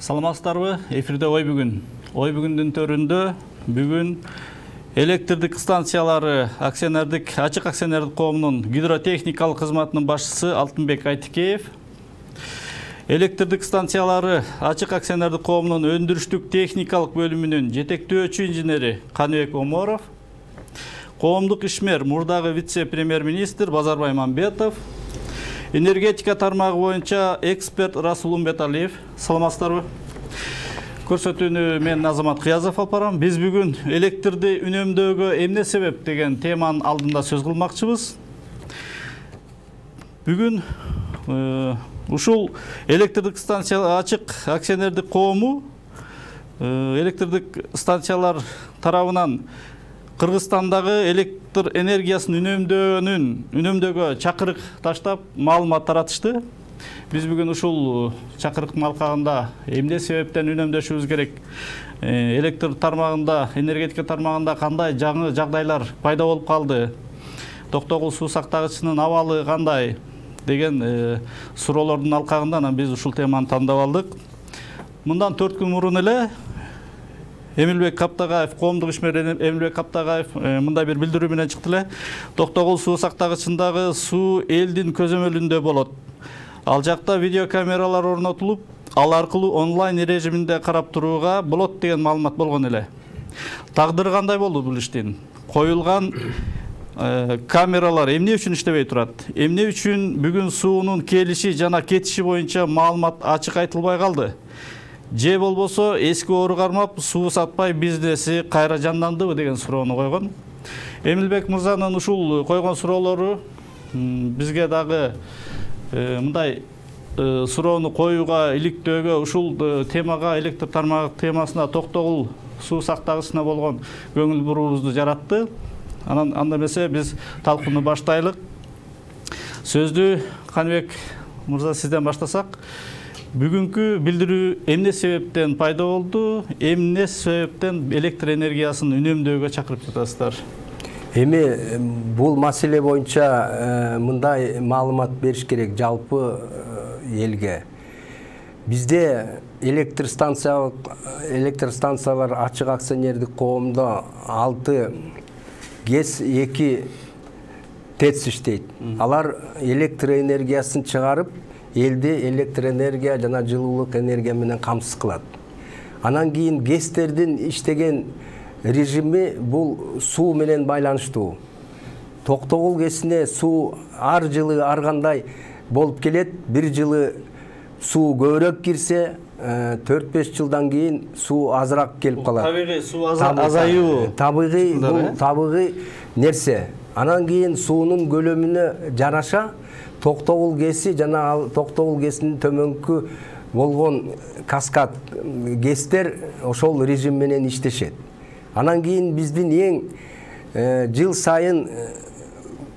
Саламатсыздарбы? Эфирде ой бүгүн. Ой бүгүндүн төрүндө бүгүн электрдик станциялары ачык акционердик коомунун гидротехникалык кызматынын башчысы Алтынбек Айтикеев, электрдик станциялары ачык акционердик коомунун өндүрүштүк техникалык бөлүмүнүн жетектөөчү инженери Каныбек Оморов, коомдук ишмер мурдагы вице-премьер-министр Базарбай Мамбетов, энергетика тармагы боюнча эксперт Расул Умбеталиев. Саламатсыздарбы? Көрсөтүүнү мен Азамат Кыязов алып барам. Биз бүгүн электрди үнөмдөөгө эмне себеп деген теманын алдында сөз кылмакчыбыз. Бүгүн ушул электрдик станция ачык акционердик коому электрдик станциялар тарабынан Кыргызстандагы электр энергиясын үнөмдөөгө чакырык таштап маалымат таратышты. Биз бүгүн ушул чакырыктын алкагында эмне себептен үнөмдөшүбүз керек, электр тармагында, энергетика тармагында кандай жаңы жагдайлар пайда болуп калды, Токтогул суу сактагычынын абалы кандай деген суроолордун алкагында биз ушул теманы тандап алдык. Мындан 4 күн мурун эле Эмилбек Каптагаев, коомдук ишмер Эмилбек Каптагаев мындай бир билдирүү менен чыкты эле. Токтогул суу сактагычындагы суу элдин көзөмөлүндө болот. Ал жакта видеокамералар орнотулуп, ал аркылуу онлайн режиминде карап турууга болот деген маалымат болгон эле. Тагдыры кандай болду бул иштин? Коюлган камералар эмне үчүн иштебей турат? Эмне үчүн бүгүн суунун келиши жана кетиши боюнча маалымат ачык айтылбай калды? Же болбосо эски ору кармап суу сатпай бизнеси кайра жандандыбы деген суроону койгон. Эмилбек мырзанын ушул койгон суроолору бизге дагы мындай суроону коюуга, иликтөөгө, ушул темага, электр тармагы темасына, Токтогул суу сактагычына болгон көңүл буруубузду жаратты. Анда эмесе биз талкууну баштайлык. Сөздү Каныбек мырза сизден баштасак. Бүгүнкү билдирүү эмне себептен пайда болду? Эмне себептен электр энергиясын үнөмдөөгө чакырып жатасыздар? Эми бул маселе боюнча мындай маалымат бериш керек жалпы элге. Бизде электр станциялар ачык акционердик коомдо 6 ГЭС 2 ТЭЦ иштейт. Алар электр энергиясын чыгарып, элди электр энергия жана жылуулук энергия менен камсыз кылат. Анан кийин ГЭСтердин иштеген режими бул суу менен байланыштуу. Токтогул ГЭСине суу ар жылы ар кандай болуп келет. Бир жылы суу көбүрөөк кирсе, 4-5 жылдан кийин суу азыраак келип калат. Табигый суу азаюу. Табигый нерсе. Анан кийин суунун көлөмүнө жараша Токтогул ГЭСи жана Токтогул ГЭСинин төмөнкү болгон каскад ГЭСтер ошол режим менен иштешет. Анан кийин биздин эң жыл сайын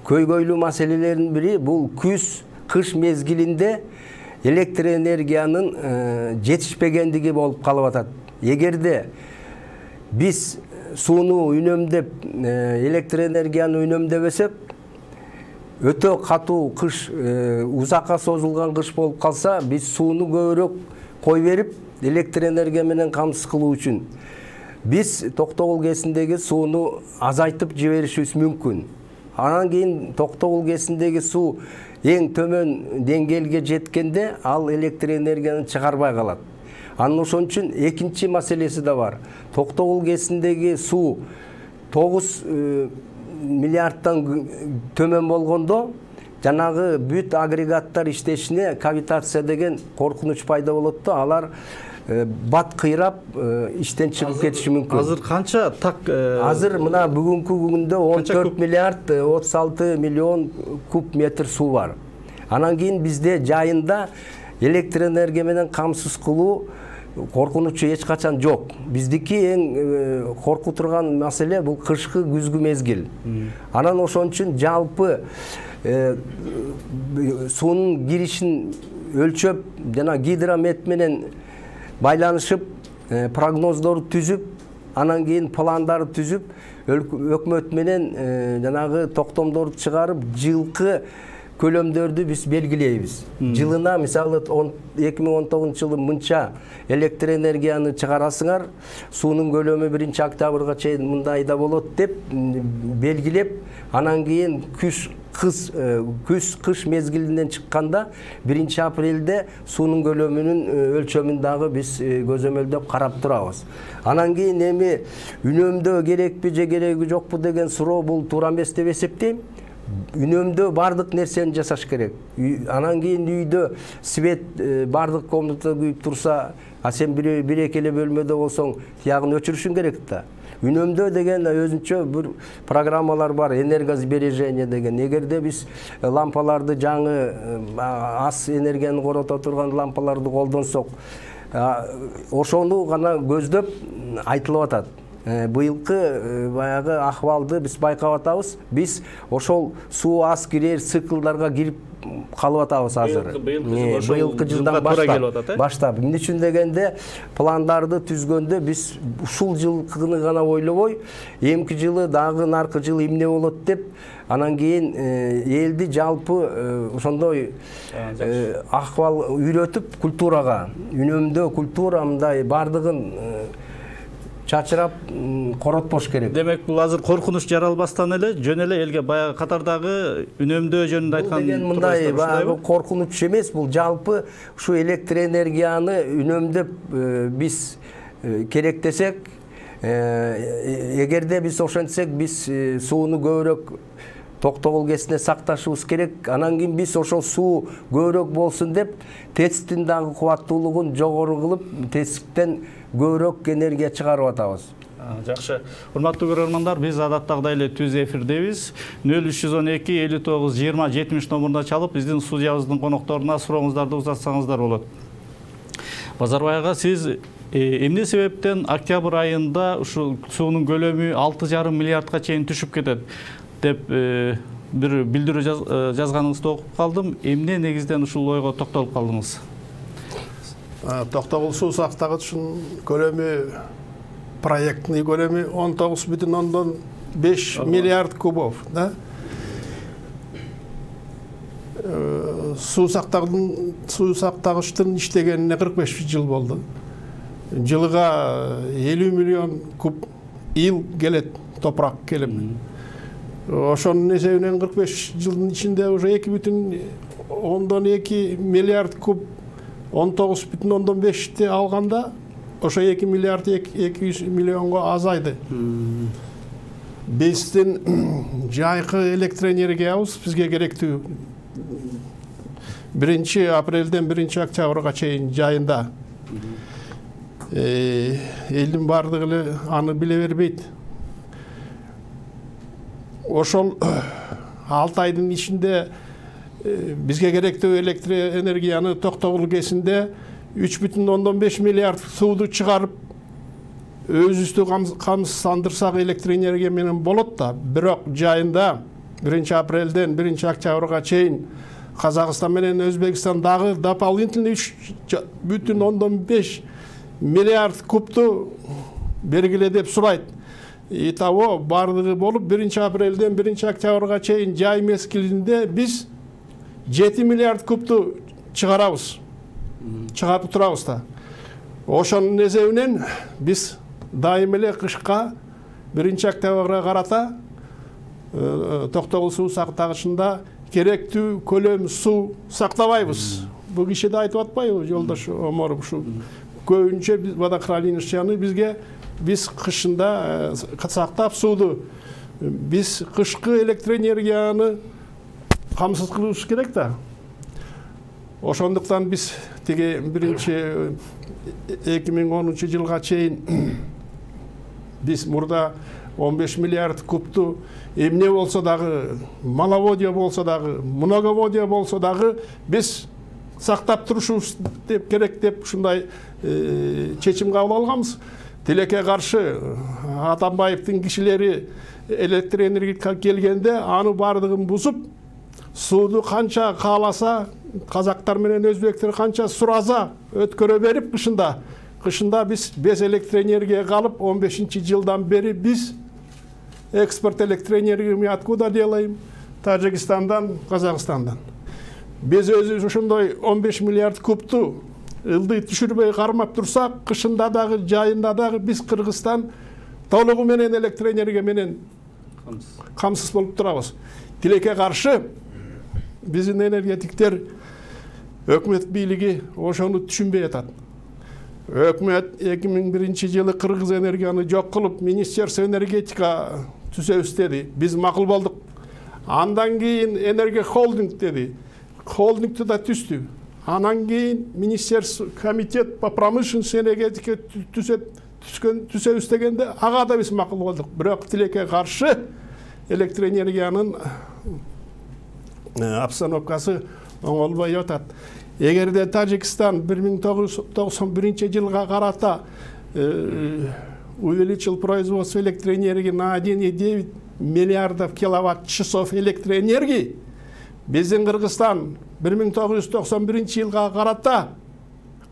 көйгөйлүү маселелердин бири бул күз-кыш мезгилинде электр энергиянын жетишпегендиги болуп калып атат. Эгерде биз сууну үнөмдөп, электр энергияны үнөмдөбөсөк, өтө катуу кыш, узакка созулган кыш болуп калса, биз сууну көбүрөөк кой берип, электр энергия менен камсыз кылуу үчүн биз Токтогул ГЭСиндеги сууну азайтып жиберишибиз мүмкүн. Анан кийин Токтогул ГЭСиндеги суу эң төмөн деңгээлге жеткенде ал электр энергияны чыгарбай калат. Анын ошон үчүн экинчи маселеси да бар. Токтогул ГЭСиндеги суу 9 миллиардтан төмөн болгондо жанагы бүт агрегаттар иштешине кавитация деген коркунуч пайда болот да, алар бат кыйрап иштен чыгып кетиши мүмкүн. Азыр канча так? Азыр мына бүгүнкү күндө 14 миллиард 36 миллион куб метр суу бар. Анан кийин бизде жайында электр энергия менен камсыз кылуу коркунучу эч качан жок. Биздики эң коркуп турган маселе бул кышкы күзгү мезгил. Анан ошон үчүн жалпы суунун киришин өлчөп жана гидромет менен байланышып, прогноздорду түзүп, анан кийин пландарды түзүп, өкмөт менен жанагы токтомдорду чыгарып, жылкы көлөмдөрдү биз белгилейбиз. Жылына мисалы 2019 жылы мынча электр энергияны чыгарасыңар, суунун көлөмү 1-октябрга чейин мындайда болот деп белгилеп, анан кийин күз-кыш мезгилинен чыкканда 1-апрелде суунун көлөмүнүн өлчөмүн дагы биз көзөмөлдөп карап турабыз. Анан кийин эми үнөмдөө керекпи же кереги жокпу деген суроо бул туура эмес деп эсептейм. Үнөмдөө бардык нерсени жасаш керек. Анан кийин үйдө свет бардык комната күйүп турса, а сен бир-эки эле бөлмөдө болсоң, тиягын өчүрүшүң керек да. Үнөмдөө деген өзүнчө бир программалар бар, энергосбережение деген. Эгерде биз лампаларды жаңы аз энергияны корото турган лампаларды колдонсок, ошону гана көздөп айтылып атат. Быйылкы баягы акыбалды биз байкап атабыз. Биз ошол суу аз кирер циклдарга кирип калып атабыз азыр. Быйылкы жылдан баштап. Эмне үчүн дегенде пландарды түзгөндө биз ушул жылкыны гана ойлобой, эмки жылы дагы наркы жылы эмне болот деп, анан кийин элди жалпы ошондой акыбал үйрөтүп культурага, үнөмдөө культура мындай бардыгын чачырап коротпош керек. Демек бул азыр коркунуч жаралбастан эле жөн эле элге баягы катардагы үнөмдөө жөнүндө айткан. Деген мындай баягы коркунуч эмес, бул жалпы ушу электр энергияны үнөмдөп биз керектесек, эгерде биз ошентсек, биз сууну көбүрөөк токтогул кезине сакташыбыз керек. Анан кийин биз ошол суу көбүрөөк болсун деп ТЭЦтин дагы кубаттуулугун жогору кылып, ТЭЦтен көбүрөөк энергия чыгарып атабыз. Жакшы. Урматтуу көрөрмандар, биз адаттагыдай эле түз эфирдебиз. 0312 59 20 70 номуруна чалып, биздин студиябыздын конокторуна сурооңуздарды узатсаңыздар болот. Базарбай ага, сиз эмне себептен октябрь айында ушу суунун көлөмү 6,5 миллиардга чейин түшүп кетет деп бир билдирүү жазганыңызды окуп калдым. Эмне негизден ушул ойго токтолуп калдыңыз? Токтогул суу сактагычынын көлөмү, проектный көлөмү 19,5 миллиард кубов, да? Суу сактагычтын иштегенине 45 жыл болду. Жылыга 50 миллион куб ил келет, топурак келем. Ошонун эсебинен 45 жылдын ичинде уже 2,2 миллиард куб 19,5'ti алганда, ошо 2 миллиард 200 миллионго азайды. Биздин жайкы электр энергиябыз бизге керектүү 1-апрелден 1-октябрга чейин жайында. Элдин бардыгы эле аны биле бербейт. Ошол 6 айдын ичинде бизге керектүү электр энергияны токтогул кезинде 3,5 миллиард сууду чыгарып өзүбүздү камсыздандырсак электр энергия менен болот да. Бирок жайында 1-апрелден 1-октябрга чейин Казакстан менен Өзбекстан дагы дополнительный 3,5 миллиард кубту бергиле деп сурайт. Итого бардыгы болуп 1-апрелден 1-октябрга чейин жай мезгилинде биз 7 миллиард кубту чыгарабыз. Чыгарып турабыз да. Ошонун эсебинен биз дайым эле кышка 1-октябрга карата токтогул суу сактагычында керектүү көлөм суу сактабайбыз. Бул киши да айтып атпайбы, жолдош Омаров, ушу көбүнчө водохранилищаны биз кышында сактап сууду, биз кышкы электр энергияны камсыз кылышыбыз керек да. Ошондуктан биз тиги 2010 жылга чейин биз мурда 15 миллиард кубту эмне болсо дагы, маловодье болсо дагы, многоводье болсо дагы биз сактап турушубуз керек деп ушундай чечим кабыл алганбыз. Тилекке каршы Атамбаевдин кишилери электр энергетикага келгенде аны бардыгын бузуп, сууду канча кааласа, казактар менен өзбектер канча сураса өткөрө берип кышында биз без электр энергия калып 15-жылдан бери биз экспорт электроэнергияны откуда делаем? Таджикистандан, Казахстандан. Биз өзүбүз ошондой 15 миллиард кубту ылдый түшүрбөй кармап турсак, кышында дагы, жайында дагы биз Кыргызстан толугу менен электроэнергия менен камсыз болуп турабыз. Тилекке каршы биздин энергетиктер, өкмөт бийлиги ошону түшүнбөй атат. Өкмөт 2001-жылы Кыргыз энергияны жок кылып, Министерство энергетика түзөбүз деди. Биз макул болдук. Андан кийин энергия холдинг деди. Холдингти да түздү. Анан кийин Министерство комитет по промышленности энергетика түзөбүз дегенде ага да биз макул болдук. Бирок тилекке каршы электроэнергиянын обстановкасы оңолбой атат. Эгерде Тажикстан 1991-жылга карата увеличил производство электроэнергии на 1,9 миллиардов киловатт-часов электроэнергии, биздин Кыргызстан 1991-жылга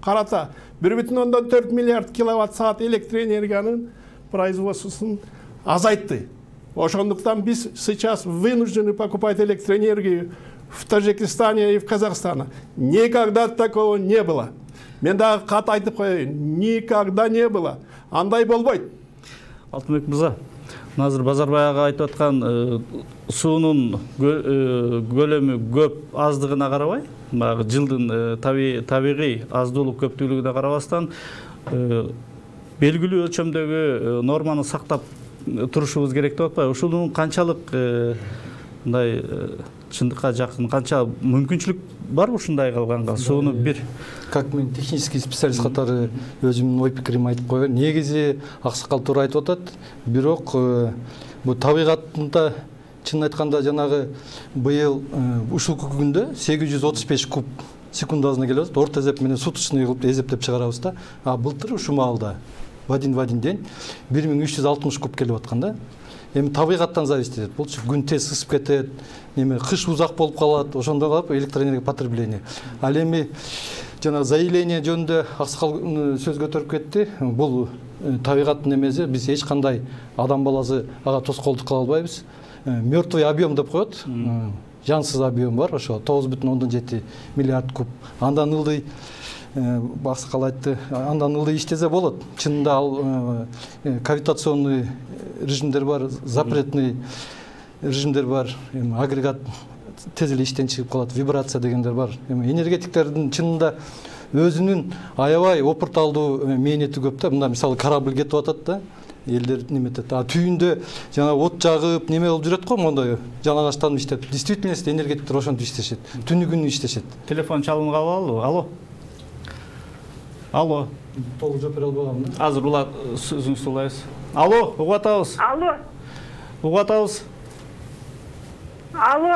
карата 1,4 миллиард киловатт-саат электроэнергиянын производствосун азайтты. Ошондуктан биз сейчас вынуждены покупать электроэнергию в Таджикистане и в Казахстане. Никогда такого не было. Мен дагы кат айтып коеюн, никогда не было. Андай болбойт. Алтынбек мырза, азыр Базарбай ага айтып аткан суунун көлөмү көп аздыгына карабай, баягы жылдын табигый аздуулук көптүүлүгүнө карабастан белгилүү өлчөмдөгү норманы сактап турушубуз керек деп атпайбы? Ушунун канчалык мындай чындыкка жакын, канча мүмкүнчүлүк бар ушундай кылганга? Сууну бир как мен технический специалист катары өзүмдүн ой пикиримди айтып коеюн. Негизи аксакал туура айтып атат. Бирок бул табигатында чын айтканда жанагы быйыл ушул күндө 835 куб секундасына келип атат. Орто эсеп менен суточный кылып эсептеп чыгарабыз да. А былтыр ушул маалда в один день 1360 куб келип аткан да. Эми табигаттан зависит этет. Болчу күн тез ысып кетет, неме кыш узак болуп калат, ошондой кылып электроэнергия потребление. Ал эми жана заявление жөнүндө аксакал сөз көтөрүп кетти. Бул табигаттын эмеси, биз эч кандай адам баласы ага тоскоолдук кыла албайбыз. Мертвый объем деп коет. Жансыз объем бар, ошо 9,7 миллиард куб. Андан ылдый аксакал айтты, андан ылдый иштесе болот. Чынында ал кавитационный режимдер бар, запретный режимдер бар, агрегат тез эле иштен чыгып калат, вибрация дегендер бар. Энергетиктердин чынында өзүнүн аябай опурталдуу мээнети көп да. Мында мисалы корабль кетип атат да, элдер неметет. А түйүндө жана от жагып, неме болуп жүрөт го, мондой жалаңачтанып иштеп. Действительность энергетиктер ошентип иштешет. Түнү күнү иштешет. Телефон чалымга алалы. Алло. Алло. Толук жооп бере албагам да. Азыр улат сөзүңүздү улайбыз. Алло, угуп атабыз. Алло. Угуп атабыз. Алло,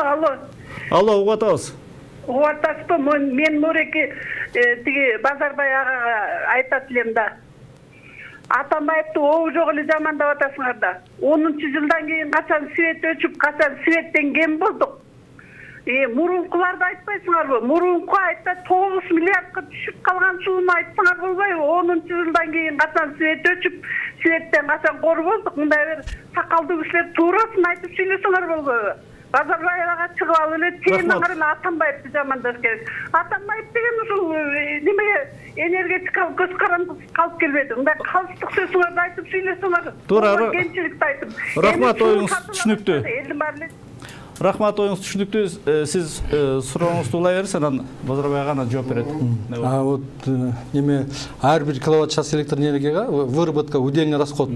угуп атабыз. Угуп атасызбы? Мен Нуреки тиги Базарбай агага айтат элем да. Атамбаевди обу жок эле жамандап атасыңар да. 10-жылдан кийин качан свет өчүп, качан светтен кем болдук. Мурункуларды айтпайсыңарбы? Мурунку айтта 9 миллиардка түшүп калган сууну айтсаңар болбойбу? 10-жылдан кийин качан свет өчүп, светтен качан кор болдук? Мындай бир сакалдуу кишилер туурасын айтып сүйлөсөңөр болбойбу? Базарбай ага чыгып алып эле темаңар эле Атамбаевди жамандаш керек. Атамбаев деген ушул немеге энергетикалык көз каранды калып келбеди. Мындай калыстык сөзүңөрдү айтып сүйлөсөңөр. Туура. Кемчиликти айтып. Рахмат, оюңуз түшүнүктүү. Элдин баары эле Рахмат, оюңуз түшүнүктүү. Сиз сурооңузду улай бериңиз, анан Базарбай ага жооп берет. Вот неме ар бир киловатт-час электроэнергияга выработка, удельный расход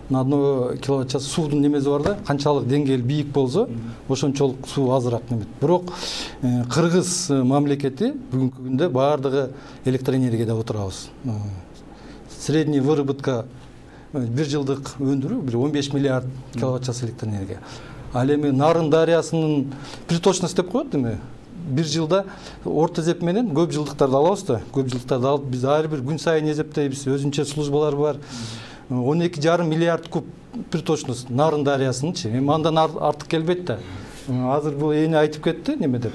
на 1 киловатт-час суудун немеси бар да, канчалык деңгээл бийик болсо, ошончолук суу азыраак немет. Бирок Кыргыз мамлекети бүгүнкү күндө баардыгы электроэнергияда отурабыз. Средний выработка бир жылдык өндүрүү бир 15 миллиард киловатт-час электроэнергия. Ал эми Нарын дарыясынын приточность деп коет эми. Бир жылда орто эсеп менен көп жылдыктарды алабыз да. Көп жылдыктарды алып биз ар бир күн сайын эсептейбиз. Өзүнчө службалар бар. 12,5 миллиард куб приточность Нарын дарыясынынчы. Эми андан артык келбейт да. Азыр бул эне айтып кетти неме деп.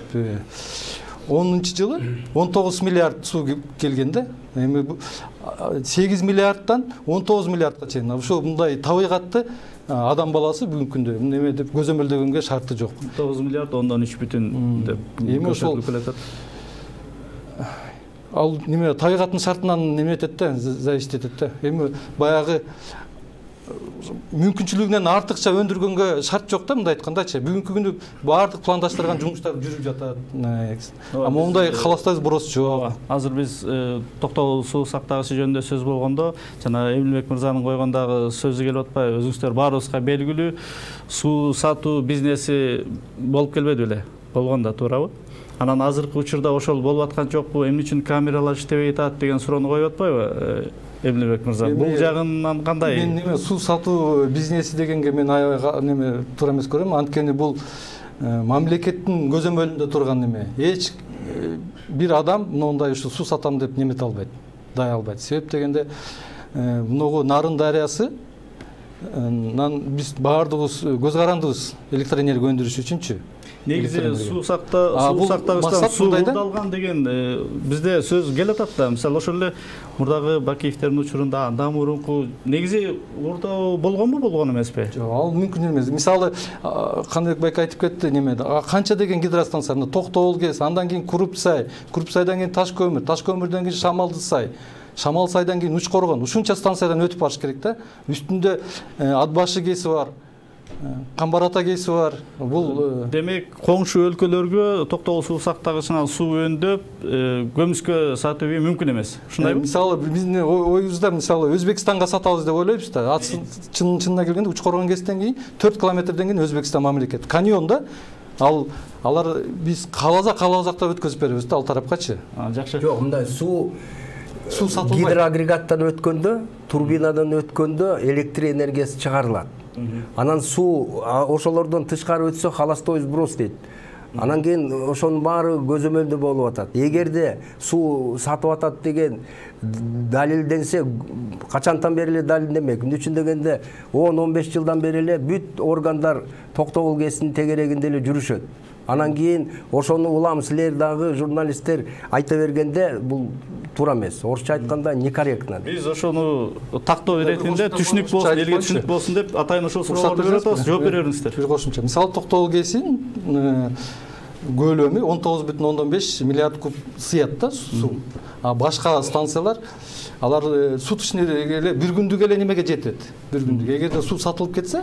10-жылы 19 миллиард суу келген да. Эми 8 миллиардтан 19 миллиардка чейин. Ошо мындай табигатты адам баласы бүгүнкү күндө неме деп көзөмөлдөгөнгө шарты жок. 9 миллиард 10,3 деп эми ошол ал неме табигаттын шартынан неме этет да, зависит этет да. Эми баягы мүмкүнчүлүгүнөн артыкча өндүргөнгө шарт жок да, мындай айткандачы. Бүгүнкү күндө баардык пландаштырган жумуштар жүрүп жатат. А мондай каластайбыз бурос жок. Азыр биз токтогул суу сактагычы жөнүндө сөз болгондо, жана Эмилбек мырзанын койгондагы сөзү келип атпайбы? Өзүңүздөр баарыбызга белгилүү суу сатуу бизнеси болуп келбеди беле? Болгон да, туурабы? Анан азыркы учурда ошол болуп аткан жокпу? Эмне үчүн камералар иштебей атат деген суроону коюп атпайбы? Эмилбек мырза, бул жагынан кандай? Мен неме суу сатуу бизнеси дегенге мен аябай неме туура эмес көрөм. Анткени бул мамлекеттин көзөмөлүндө турган неме. Эч бир адам мындай ушу суу сатам деп немете албайт, дай албайт. Себеп дегенде мынагу Нарын дарыясы биз баардыгыбыз көз карандыбыз электроэнергия өндүрүш үчүнчү. Негизи суу сактагычтан суу алган деген бизде сөз келип атат да. Мисалы ошол эле мурдагы Бакиевтердин учурунда андан мурунку негизи урдоо болгонбу, болгон эмеспи? Жок, ал мүмкүн эмес. Мисалы Каныбек байке айтып кетти немеде. Канча деген гидростанция, Токтогул КЭС, андан кийин Курупсай, Курупсайдан кийин Таш көмүрдөн кийин Шамалдысай, Шамалсайдан кийин Учкоргон. Ушунча станциядан өтүп барыш керек да. Үстүндө Атбашы КЭСи бар. Камбар ата КЭСи бар. Бул демек коңшу өлкөлөргө токтогул суу сактагычынан суу өндүп, көмүскө сатуу мүмкүн эмес. Ушундайбы? Мисалы биздин оюбузда мисалы Өзбекстанга сатабыз деп ойлойбуз да. Чынына келгенде Учкоргон КЭСтен кийин 4 километрден кийин Өзбекстан мамлекет. Каньонда алар биз кааласак өткөзүп беребиз да ал тарапкачы. Жакшы. Жок, мындай суу сатылбайт. Гидроагрегаттан өткөндө, турбинадан өткөндө электр энергиясы чыгарылат. Анан суу ошолордон тышкары өтсө халастой сброс дейт. Анан кийин ошонун баары көзөмөлдө болуп атат. Эгерде суу сатып атат деген далилденсе, качантан бери эле далилденбек. Эмне үчүн дегенде 10-15 жылдан бери эле бүт органдар Токтогул КЭСинин тегерегинде эле жүрүшөт. Анан кийин ошону улам силер дагы журналисттер айта бергенде бул туура эмес. Орусча айтканда некорректно. Биз ошону тактоо иретинде түшүнүк болсун, элге түшүнүк болсун деп атайын ошол суроолорду берип атабыз. Жооп бере бериңиздер. Бир кошумча. Мисалы Токтогул КЭСинин көлөмү 19,5 миллиард куб сыят да суу. А башка станциялар алар суточныйга эле бир күндүк эле немеге жетет. Бир күндүк. Эгерде суу сатылып кетсе,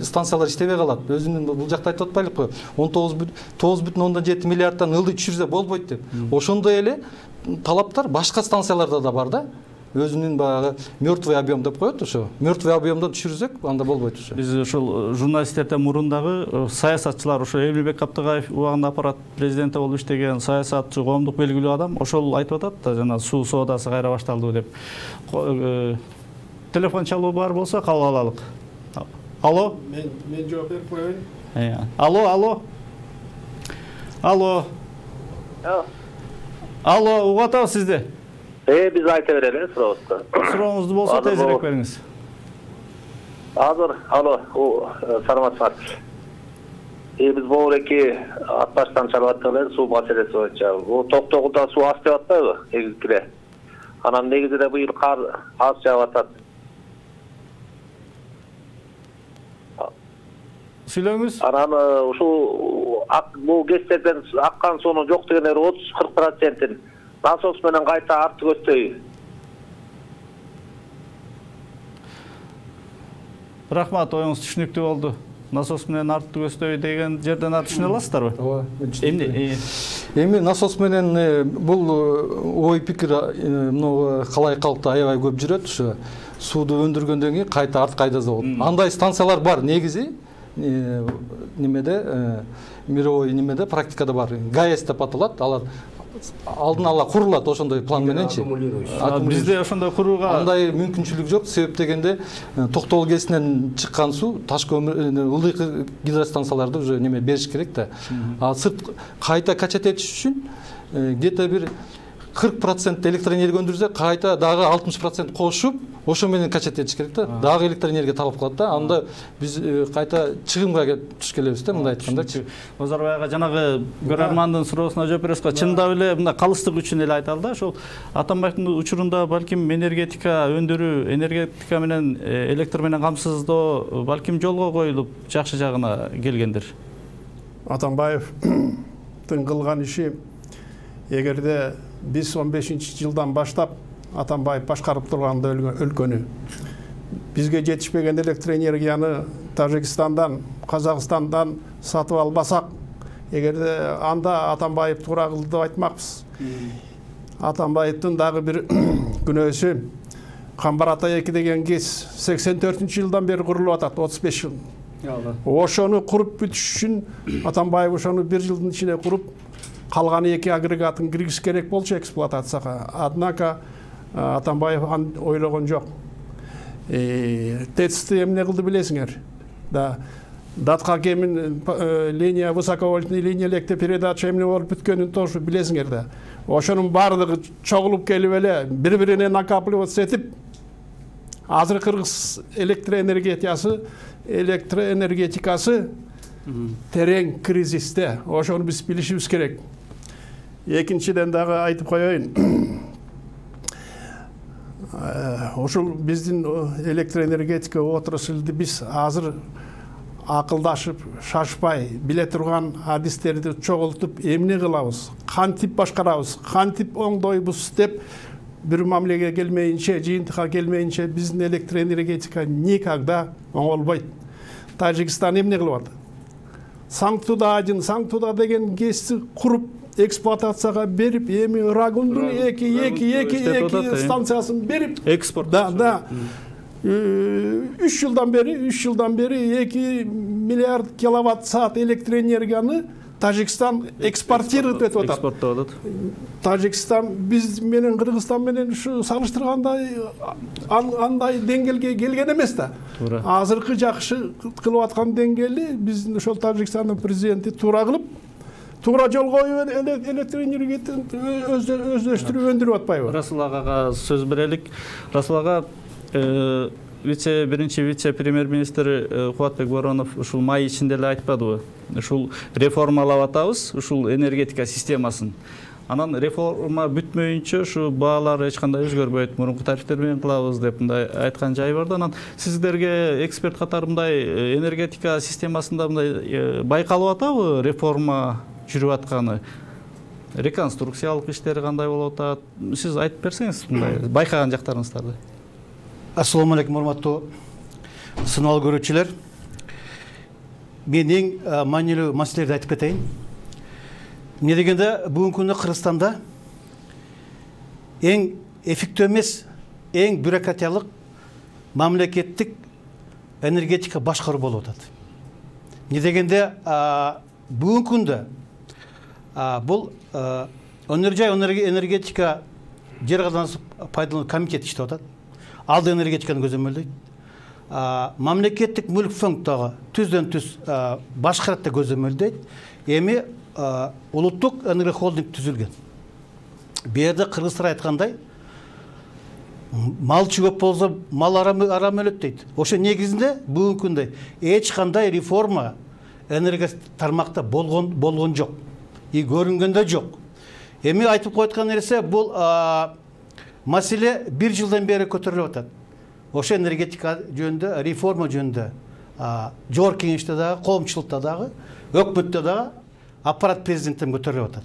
станциялар иштебей калат. Өзүнүн бул жакта айтып атпайлыкпы? 19,7 миллиарддан ылдый түшүрсө болбойт деп. Ошондой эле талаптар башка станцияларда да бар да. Өзүнүн баягы мертвый объем деп коет ошо. Мертвый объемдон түшүрсөк, анда болбойт ошо. Биз ошол журналисттерден мурундагы саясатчылар, ошо Эмилбек Каптыгаев убагында аппарат президенти болуп иштеген саясатчы, коомдук белгилүү адам ошол айтып атат да, жана суу соодасы кайра башталды деп. Телефон чалуу бар болсо кабыл алалык. Алло? Мен жооп берип коеюн. Алло. Алло, угуп атабыз сизди. Биз айта берели сурообузду. Сурооңузду болсо тезирээк бериңиз. Азыр, саламатсызбы? Биз Боореки Атбаштан чалып аттык эле суу маселеси боюнча. Бул Токтогулда суу аз деп атпайбы? Негизгиле. Анан негизинде быйыл кар аз жаап атат. Сүйлөңүз. Анан ушул бул КЭСтерден аккан суунун жок дегендер 30-40% насос менен кайта артып өтөй. Рахмат, оюңуз түшүнүктүү болду. Насос менен артып өтөй деген жерден түшүнө аласыздарбы? Ооба. Эми насос менен бул ой пикир мына калай калкта аябай көп жүрөт. Ушу сууду өндүргөндөн кийин кайта арт кайдаса болот. Андай станциялар бар негизи. Немеде мировой немеде практикада бар. ГАЭС деп аталат. Алар алдын ала курулат ошондой план мененчи. Бизде ошондой курууга андай мүмкүнчүлүк жок. Себеп дегенде Токтогул КЭСинен чыккан суу Таш көмүр ылдый гидростанцияларды уже неме бериш керек да. А сырт кайта качать этиш үчүн где-то бир 40% электроэнергия өндүрсө кайта дагы 60% кошуп ошо менен качать этиш керек да. Дагы электроэнергия талап кылат да. Анда биз кайта чыгымга туш келебиз да, мындай айткандачы. Базарбай ага жанагы көрөрмандын суроосуна жооп бересизби? Чындап эле мындай калыстык үчүн эле айталы да. Ошол Атамбаевдин учурунда балким энергетика өндүрүү, энергетика менен электр менен камсыздоо балким жолго коюлуп жакшы жагына келгендир. Атамбаевдин кылган иши, эгерде биз 15-жылдан баштап Атамбаев башкарып турганда өлкөнү бизге жетишпеген электроэнергияны Тажикстандан, Казакстандан сатып албасак, эгерде анда Атамбаев туура кылды деп айтмакпыз. Атамбаевдин дагы бир күнөөсү, Камбар ата 2 деген КЕС 84-жылдан бери курулуп атат, 35 жыл. Ошону куруп бүтүш үчүн Атамбаев ошону 1 жылдын ичинде куруп, калган 2 агрегатын киргиз керек болчу эксплуатацияга. Однако Атамбаев ойлогон жок. ТЭЦ-ти эмне кылды билесиңер? Да, датка кемин линия, высоковольтный линия электропередача эмне болуп бүткөнүн тоже билесиңер да. Ошонун баардыгы чогулуп келип эле бири-бирине накапливаться этип, азыр Кыргыз электроэнергетикасы терең кризисте. Ошону биз билишибиз керек. Экинчиден дагы айтып коеюн. Ошол биздин электроэнергетика отраслды биз азыр акылдашып, шашпай, биле турган адистерди чогултуп, эмне кылабыз, кантип башкарабыз, кантип оңдойбуз деп бир мамилеге келмейинче, жыйынтыкка келмейинче биздин электроэнергетика никогда оңолбойт. Тажикстан эмне кылып атат? Санктуда-1, Санктуда деген КЕСти куруп, эксплуатацияга берип, эми Рагунду 2 станциясын берип, экспорт. Да. 3 жылдан бери 2 миллиард киловатт саат электроэнергияны Тажикстан экспортирует этип атат. Экспорттоп атат. Тажикстан биз менен Кыргызстан менен ушу салыштырганда андай деңгээлге келген эмес да. Азыркы жакшы кылып аткан деңгээли биздин ошол Тажикстандын президенти туура кылып, туура жол коюп электроэнергияны өздөштүрүп өндүрүп атпайбы? Расул агага сөз берелик. Расул ага, биринчи вице-премьер-министр Кубатбек Боронов ушул май ичинде эле айтпадыбы? Ушул реформалап атабыз, ушул энергетика системасын. Анан реформа бүтмөйүнчө ушу баалар эч кандай өзгөрбөйт, мурунку тарифтер менен кылабыз деп мындай айткан жайы бар да. Анан сиздерге эксперт катары мындай энергетика системасында мындай байкалып атабы реформа жүрүп атканы? Реконструкциялык иштери кандай болуп атат? Сиз айтып берсеңиз мындай байкаган жактарыңыздарды. Ассаламу алейкум, урматтуу сыналуу көрүүчүлөр. Мен эң маанилүү маселелерди айтып кетейин. Эмне дегенде, бүгүнкү күндө Кыргызстанда эң эффектүү эмес, эң бюрократиялык мамлекеттик энергетика башкаруу болуп атат. Эмне дегенде, бүгүнкү күндө бул энергетика жер казынасы пайдалануу комитети иштеп атат. Алды энергетиканы көзөмөлдөйт. Мамлекеттик мүлк фонддогу түздөн-түз башкарат деп көзөмөлдөйт. Эми улуттук энергия холдинг түзүлгөн. Бу жерде кыргыздар айткандай, малчы көп болсо мал арам өлөт дейт. Ошо негизинде бүгүнкү күндө эч кандай реформа энергия тармакта болгон жок. И көрүнгөндө жок. Эми айтып койткан нерсе бул маселе 1 жылдан бери көтөрүлүп атат. Ошо энергетика жөнүндө, реформа жөнүндө жогорку кеңеште дагы, коомчулукта дагы, өкмөттө дагы аппарат президенттен көтөрүлүп атат.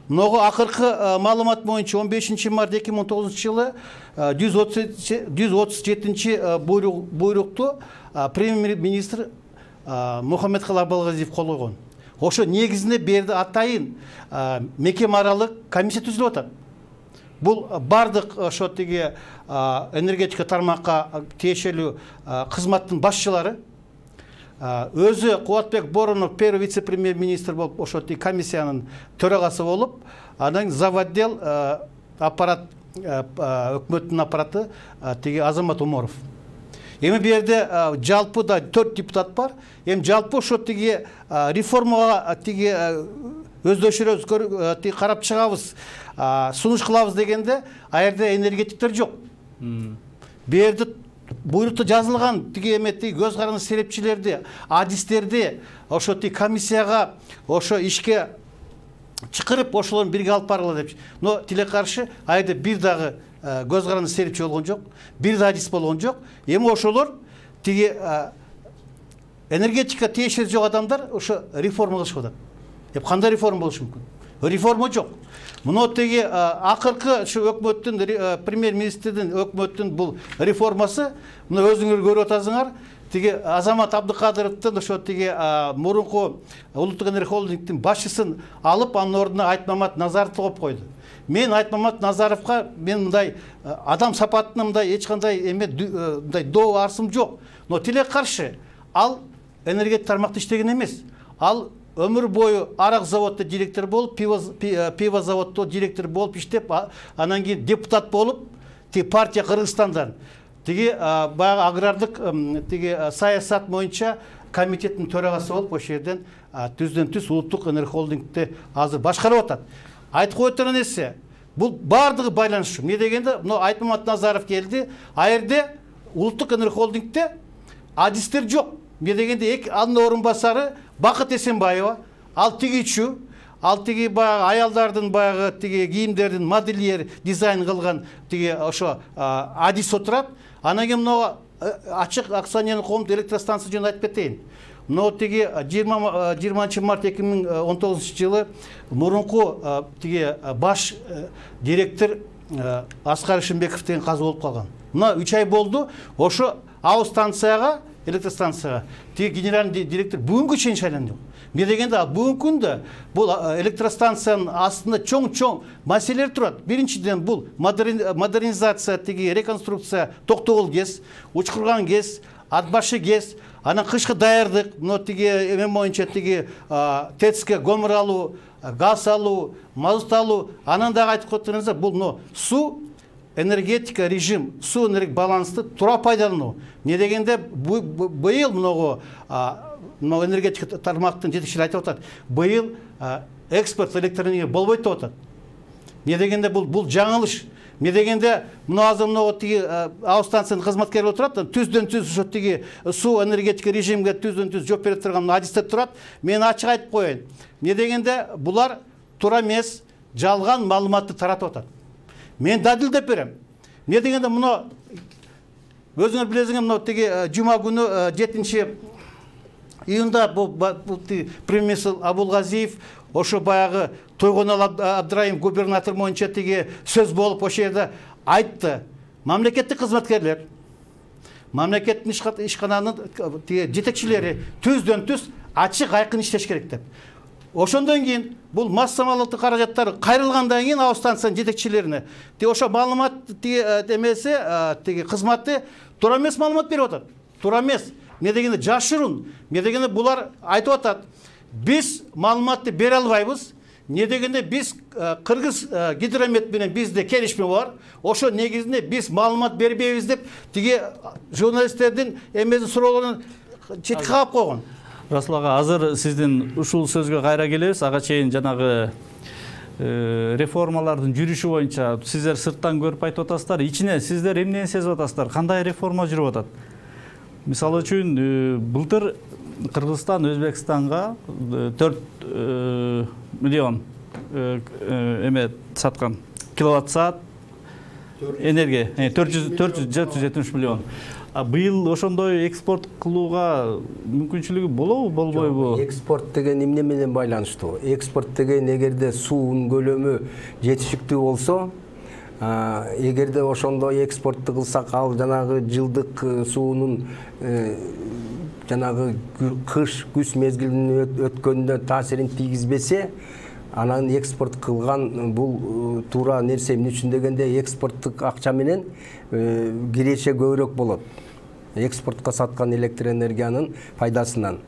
Могу акыркы маалымат боюнча 15 март 2019 жылы 137 буйрукту премьер-министр Мухаммедкалый Абылгазиев кол койгон. Ошо негизинде берди атайын мекеме аралык комиссия түзүлүп атат. Бул бардык ошо тиги энергетика тармакка тиешелүү кызматтын башчылары, өзү Кубатбек Боронов первый вице-премьер-министр болуп, ошо тиги комиссиянын төрагасы болуп, анан заводдел аппарат, өкмөттүн аппараты тиги Азамат Умаров. Эми бу жерде жалпы да 4 депутат бар. Эми жалпы ошо тиги реформага тиги өздөшүрөбүз, карап чыгабыз, сунуш кылабыз дегенде а жерде энергетиктер жок. Бу жерде буйрукта жазылган тиги эме көз каранды серепчилерди, адистерди ошо комиссияга ошо ишке чакырып ошолорду бирге алып баргыла депчи. Но тиле каршы а жерде бир дагы көз каранды серепчи болгон жок, бир да адис болгон жок. Эми ошолор тиги энергетика тиешеси жок адамдар ошо реформа кылышып атат. Кандай реформа болушу мүмкүн? Реформа жок. Мына тиги акыркы ушу өкмөттүн премьер-министрдин өкмөттүн бул реформасы, мына өзүңөр көрүп атасыңар, тиги Азамат Абдыкадыровдун ошо тиги мурунку Улуттук энергия холдингдин башчысын алып, анын ордуна Айтмамат Назаровду коюп койду. Мен Айтмамат Назаровго мен мындай адам сапатына мындай эч кандай эме мындай доо арсым жок. Но тиле каршы ал энергетика тармакта иштеген эмес. Ал өмүр бою арак заводдо директор болуп, пиво заводдо директор болуп иштеп, анан кийин депутат болуп, тиги партия Кыргызстандан тиги баягы агрардык тиги саясат боюнча комитеттин төрагасы болуп, ошол жерден түздөн-түз Улуттук энергия холдингди азыр башкарып атат. Айтып коет турган нерсе, бул баардыгы байланыш. Эмне дегенде, мына Айтмамат Назаров келди, а жерде Улуттук энергия холдингде адистер жок. Эмне дегенде, анын орун басары Бакыт Эсенбаева, ал тигичүү, ал тиги баягы аялдардын баягы тиги кийимдердин модельер дизайн кылган тиги ошо адис отурат. Анан кийин мына ачык акционерлик коомдук электростанция жөнүндө айтып кетейин. Мына тиги 20 март 2019 жылы мурунку тиги баш директор Аскар Ишимбеков деген каза болуп калган. Мына 3 ай болду, ошо АО станцияга, электростанцияга тиги генеральный директор бүгүнгү чейин шайланды. Эмне дегенде, бүгүнкү күндө бул электростанциянын астында чоң маселелер турат. Биринчиден бул модернизация, тиги реконструкция, Токтогул ГЭС, Учкурган ГЭС, Атбашы ГЭС, анан кышкы даярдык, мына тиги эме боюнча тиги ТЭЦке көмүр алуу, газ алуу, мазут алуу, анан дагы айтып коюңуздар, бул мына суу энергетика режим, суу энергия балансты туура пайдалануу. Эмне дегенде, быйыл мынагу энергетика тармактын жетекчилери айтып атат, быйыл экспорт электроэнергия болбойт деп атат. Эмне дегенде, бул жаңылыш. Эмне дегенде, мына азыр мына тиги АО станциянын кызматкери отурат, түздөн-түз ошо тиги суу энергетика режимге түздөн-түз жооп берип турган адистер турат. Мен ачык айтып коеюн. Эмне дегенде, булар туура эмес, жалган маалыматты таратып атат. Мен далилдеп берем. Эмне дегенде, мына өзүңөр билесиңер, мына тиги жума күнү 7 июнда бул премьер-министр Абулгазиев ошо баягы Тойгонал Абдыраим губернатор боюнча тиги сөз болуп ошол жерде айтты. Мамлекеттик кызматкерлер, мамлекеттин ишкананын тиги жетекчилери түздөн-түз ачык айкын иштеш керек деп. Ошондон кийин бул массамалык каражаттар кайрылгандан кийин АО станциянын жетекчилерине тиги ошо маалымат тиги эмеси тиги кызматы туура эмес маалымат берип атат. Туура эмес. Эмне дегенде, жашырын. Эмне дегенде, булар айтып атат, биз маалыматты бере албайбыз. Эмне дегенде, биз Кыргыз гидромет менен бизде келишме бар. Ошо негизинде биз маалымат бербейбиз деп тиги журналисттердин эмесин суроолорун четке каап койгон. Расул ага, азыр сиздин ушул сөзгө кайра келебиз. Ага чейин жанагы реформалардын жүрүшү боюнча сиздер сырттан көрүп айтып атасыздар. Ичине сиздер эмнени сезип атасыздар? Кандай реформа жүрүп атат? Мисалы үчүн, былтыр Кыргызстан Өзбекстанга 4 миллион эме саткан киловатт саат энергия, 470 миллион. Быйыл ошондой экспорт кылууга мүмкүнчүлүгү болобу, болбойбу? Экспорт деген эмне менен байланыштуу? Экспорт деген эгерде суунун көлөмү жетишиктүү болсо, эгерде ошондой экспортту кылсак, ал жанагы жылдык суунун жанагы кыш күз мезгилинин өткөнүнө таасирин тийгизбесе, анан экспорт кылган бул туура нерсе. Эмне үчүн дегенде, экспорттук акча менен киреше көбүрөөк болот. Экспортко саткан электр энергиянын пайдасынан.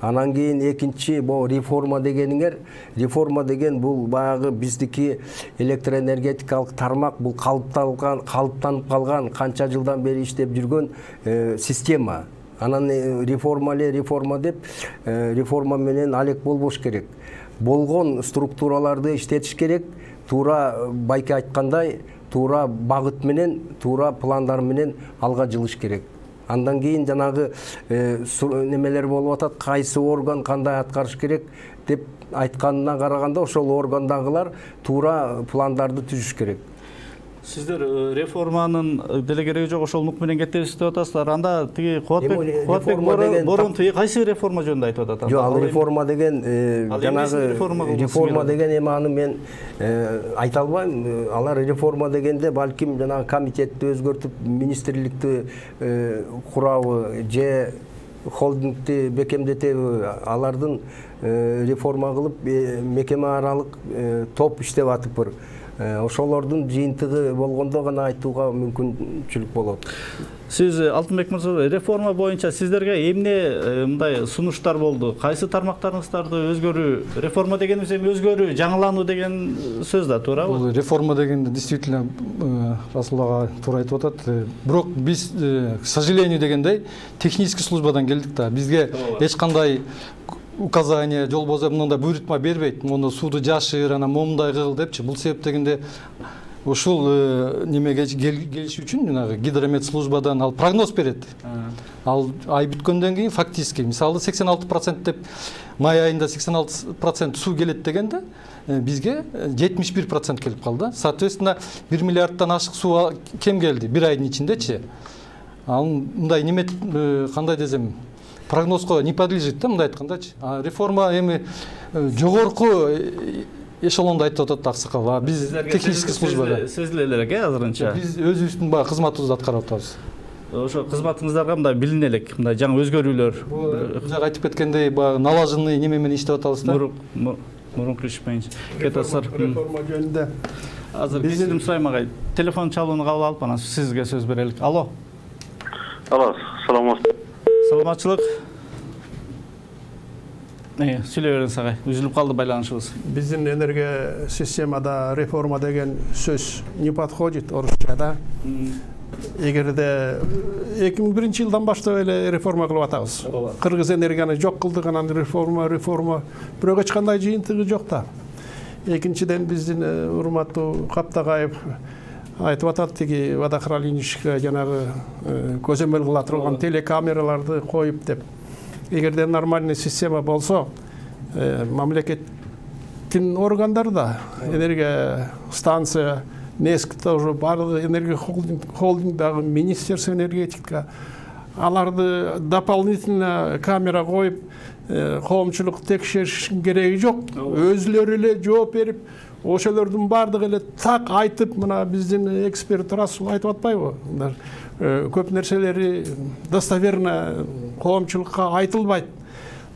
Анан кийин экинчи бул реформа дегениңер, реформа деген бул баягы биздики электроэнергетикалык тармак, бул калыптанып калган, канча жылдан бери иштеп жүргөн система. Анан реформа деп реформа менен алек болбош керек. болгон структураларды иштетиш керек. Туура байке айткандай, туура багыт менен, туура пландар менен алга жылыш керек. Андан кийин жанагы немелер болуп атат, кайсы орган кандай аткарыш керек деп айтканына караганда ошол органдагылар туура пландарды түзүш керек. Сиздер реформанын деле кереги жок, ошол нук менен кетебиз деп атасыздар. Анда тиги Кубатбек Борон кайсы реформа жөнүндө айтып атат? Жок, ал реформа деген жанагы реформа деген эми аны мен айта албайм. Алар реформа дегенде балким жанагы комитетти өзгөртүп, министрликти курабы же холдингти бекемдетеби, алардын реформа кылып мекеме аралык топ иштеп атыппыр. Ошолордун жыйынтыгы болгондо гана айтууга мүмкүнчүлүк болот. Сиз Алтынбек мырза, реформа боюнча сиздерге эмне мындай сунуштар болду? Кайсы тармактарыңыздарды өзгөрүү? Реформа дегенибиз эми өзгөрүү, жаңылануу деген сөз да, туурабы? Бул реформа дегенде действительно Расул ага туура айтып атат. Бирок биз, к сожалению дегендей, технический службадан келдик да. Бизге эч кандай указание, жол бозо мындай буйрутма бербейт. Муну сууду жашыр, анан момундай кыл депчи. Бул себептегенде ушул немеге келиш үчүн жанагы гидромет службадан ал прогноз берет. Ал ай бүткөндөн кийин фактически мисалы 86% деп май айында 86% суу келет дегенде бизге 71% келип калды. Соответственно 1 миллиардтан ашык суу кем келди бир айдын ичиндечи. Ал мындай неме кандай десем прогнозго не подлежит да, мындай айткандачы. Реформа эми жогорку эшелондо айтып атат аксакал. Биз технический службада сезиле элек азырынча. Биз өзүбүздүн баягы кызматыбызды аткарып атабыз. Ошо кызматыңыздарга мындай билине элек, мындай жаңы өзгөрүүлөр. Жак айтып кеткендей, баягы налаженный неме менен иштеп атабыз да. Мурунку иш менен кетасыздар. Реформа жөнүндө азыр кечирим сурайм агай. Телефон чалууну кабыл алып, анан сизге сөз берелик. Алло. Алло, саламатсызбы? Саламатчылык. Сүйлөй бериңиз агай. Үзүлүп калды байланышыбыз. Биздин энергия системада реформа деген сөз не подходит орусчада. Эгерде 2001-жылдан баштап эле реформа кылып атабыз. Кыргыз энергияны жок кылдык, анан реформа. Бирок эч кандай жыйынтыгы жок да. Экинчиден биздин урматтуу Каптагаев айтып атат, тиги водохранилищеге жанагы көзөмөл кыла турган телекамераларды коюп деп. Эгерде нормальный система болсо, мамлекеттин органдарда энергия станция, НЭСК тоже барлык энергия холдинг дагы Министерство энергетика аларды дополнительно камера коюп коомчулук текшериш кереги жок. Өзүлөрү эле жооп берип, ошолордун бардыгы эле так айтып, мына биздин эксперт Расул айтып атпайбы? Көп нерселери достоверно коомчулукка айтылбайт.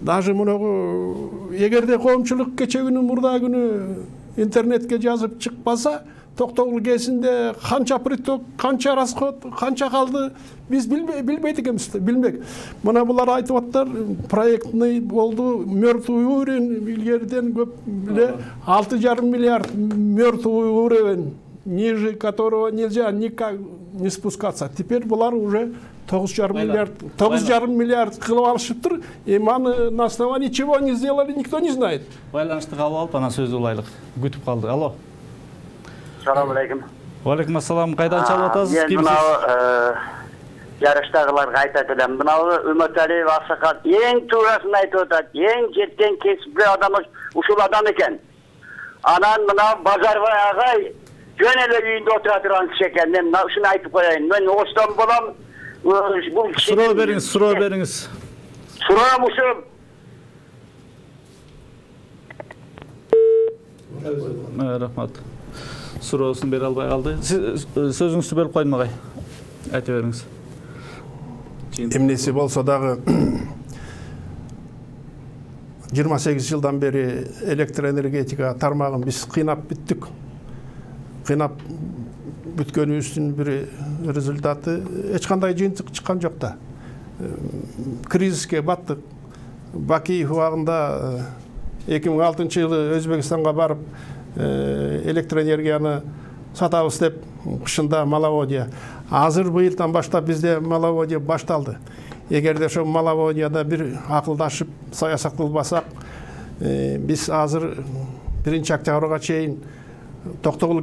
Даже мунагу эгерде коомчулук кече күнү мурда күнү интернетке жазып чыкпаса, Токтогул ГЭСинде канча приток, канча расход, канча калды, биз билбейт экенбиз, билбек. Мына булар айтып аттар, проектный болду, мертвый уровень илгериден көп эле 6,5 миллиард мертвый уровень, ниже которого нельзя никак не спускаться. Теперь булар уже 9,5 миллиард кылып алышыптыр. Эми аны на основании чего не сделали, никто не знает. Байланышты кабыл алып, анан сөз улайлык. Күтүп калды. Алло. Салам алейкум. Алейкум ассалам. Кайдан чалып атасыз? Мен мынау жарыштагыларга айтат элем. Мынау Үмөталиев аксакал эң туурасын айтып атат. Эң жеткен кесипли адам ушул адам экен. Анан мынау Базарбай агай жөн эле үйүндө отура турган киши экен. Мен ушуну айтып коеюн. Мен Остон болом. Суроо бериңиз. Суроом ушу. Рахмат. Суроосун бере албай калды. Сиз сөзүңүздү бөлүп койдум агай. Айта бериңиз. Эмнеси болсо дагы 28 жылдан бери электроэнергетика тармагын биз кыйнап бүттүк. Кыйнап бүткөнүбүздүн бир результаты эч кандай жыйынтык чыккан жок да. Кризиске баттык. Бакиев убагында 2006-жылы Өзбекстанга барып электроэнергияны сатабыз деп кышында маловодье. Азыр быйылдан баштап бизде маловодье башталды. Эгерде ошо маловодьяда бир акылдашып саясат кылбасак, Биз азыр биринчи октябрга чейин Токтогул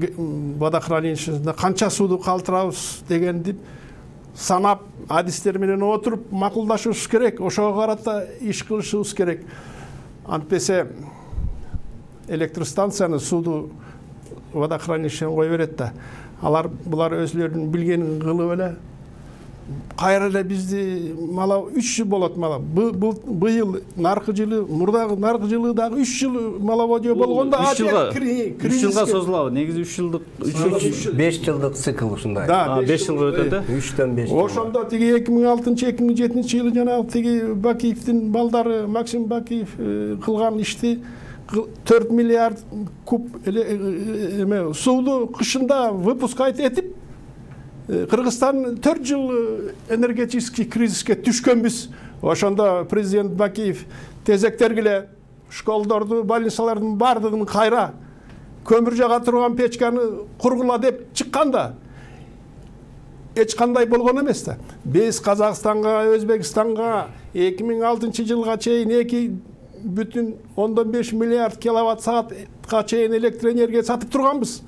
водохранилищесинде канча сууду калтырабыз дегенди санап, адистер менен отуруп макулдашыбыз керек. Ошого карата иш кылышыбыз керек. Антпесе электростанцияны сууду водохранилищеден кое берет да. Булар өзлөрүнүн билгенин кылып эле кайра эле бизди мала 3 жыл болот мала. Быйыл наркы жылы, мурдагы наркы жылы дагы 3 жыл маловодие болгондо 3 жылга созулабы? Негизи 3 жылдык 5 жылдык цикл ушундай. Да, 5 жылга өтөт да. 3-төн 5 жыл. Ошондо тиги 2006-2007 жылы жанагы тиги Бакиевдин балдары Максим Бакиев кылган ишти 4 миллиард куб сууду кышында выпускать этип Кыргызстан 4 жыл энергетический кризиске түшкөнбүз. Ошондо президент Бакиев тезектергиле школдорду, больницалардын бардыгын кайра көмүр жага турган печканы кургула деп чыкканда эч кандай болгон эмес да. Биз Казакстанга, Өзбекстанга 2006 жылга чейин 2,5 миллиард киловатт саатка чейин электр энергия сатып турганбыз.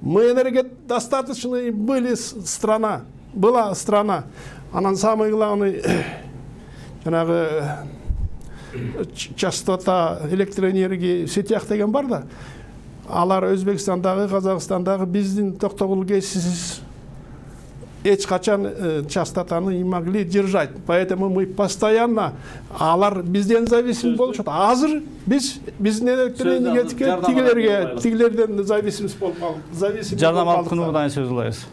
Мы энергодостаточной была страна. Анан самый главный жанагы частота электроэнергии в сетях деген бар да. Алар Өзбекстандагы, Казакстандагы биздин Токтогул ГЭС эч качан частотаны не могли держать. Поэтому мы постоянно алар бизден зависим болушат. Азыр биздин электроэнергетика тигилерден зависим болуп калдык. Жарнамалык кунугудан сөз кылабыз.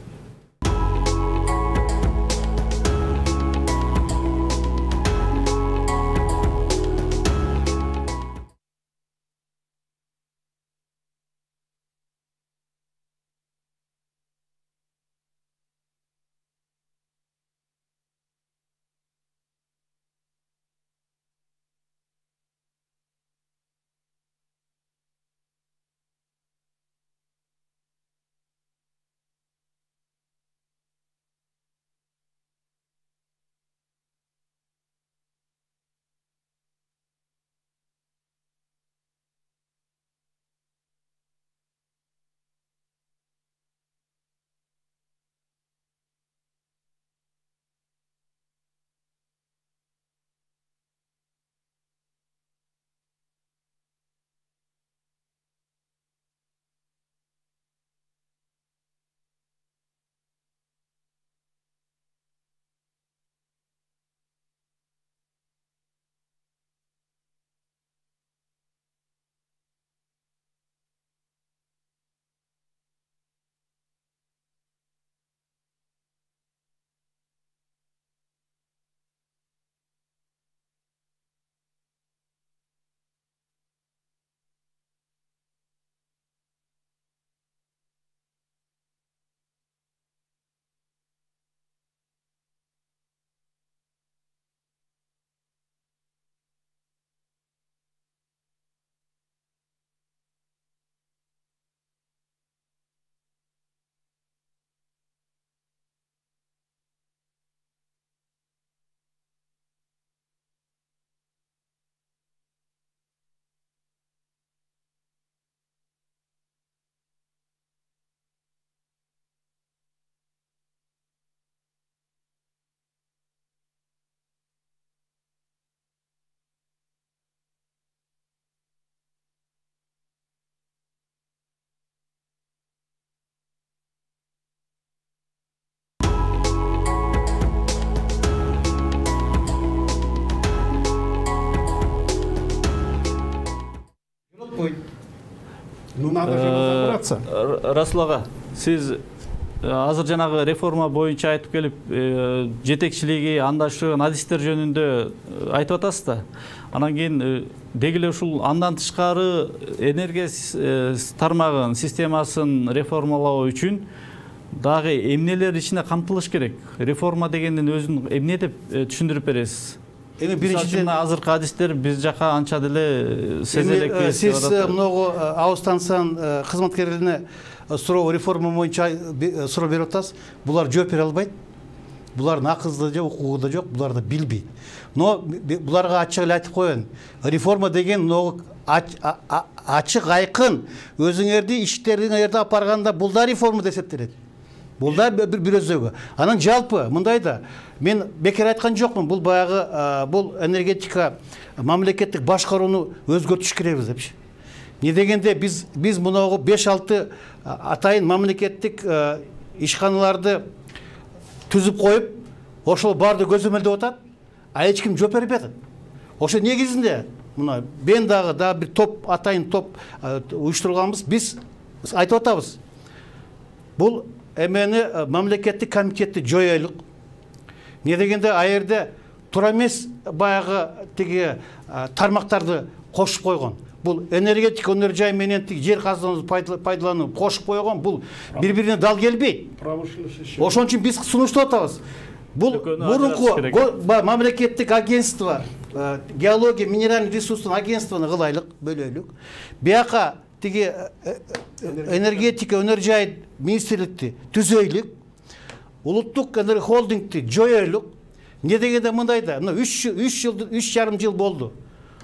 Ну надо же разобраться. Расул ага, сиз азыр жанагы реформа боюнча айтып келип, жетекчилиги, андашыгын, адистер жөнүндө айтып атасыз да. Анан кийин деги эле ушул андан тышкары энергия тармагын, системасын реформалоо үчүн дагы эмнелер ичине камтылыш керек? Реформа дегендин өзүн эмне деп түшүндүрүп бересиз? Эми биринчиден азыркы адистер биз жака анча деле сезелек. Сиз многу АО станциянын кызматкерлерине суроо реформа боюнча суроо берип атасыз. Булар жооп бере албайт. Булардын акылы да жок, укугу да жок, булар да билбейт. Но буларга ачык эле айтып коеюн. Реформа деген многу ачык айкын өзүңөрдү иштериңерди алып барганда бул да реформа деп эсептелет. Бул да бир өзөгө. Анан жалпы мындай да мен бекер айткан жокмун, бул баягы бул энергетика мамлекеттик башкарууну өзгөртүш керекпиз депчи. Не дегенде биз мунагу 5-6 атайын мамлекеттик ишканаларды түзүп коюп, ошол барды көзөмөлдөп атат, а эч ким жооп бербей атат. Ошо негизинде мына мен дагы бир топ атайын топ уюштурганбыз. Биз айтып атабыз. Бул эмени мамлекеттик комитетти жоелук. Не дегенде а жерде туура эмес баягы тиги тармактарды кошуп койгон. Бул энергетика өнөр жай менен тиги жер казыныбызды пайдалануу кошуп койгон. Бул бири-бирине дал келбейт. Ошон үчүн биз сунуштап атабыз. Бул мурунку мамлекеттик агентство, геология, минеральный ресурстун агентствону кылайлык, бөлөйлүк. Бияка тиги энергетика өнөр жай министрликти түзөйлүк. Улуттук энергохолдингти жоелук. Не дегенде мындай да, мына 3,5 жыл болду.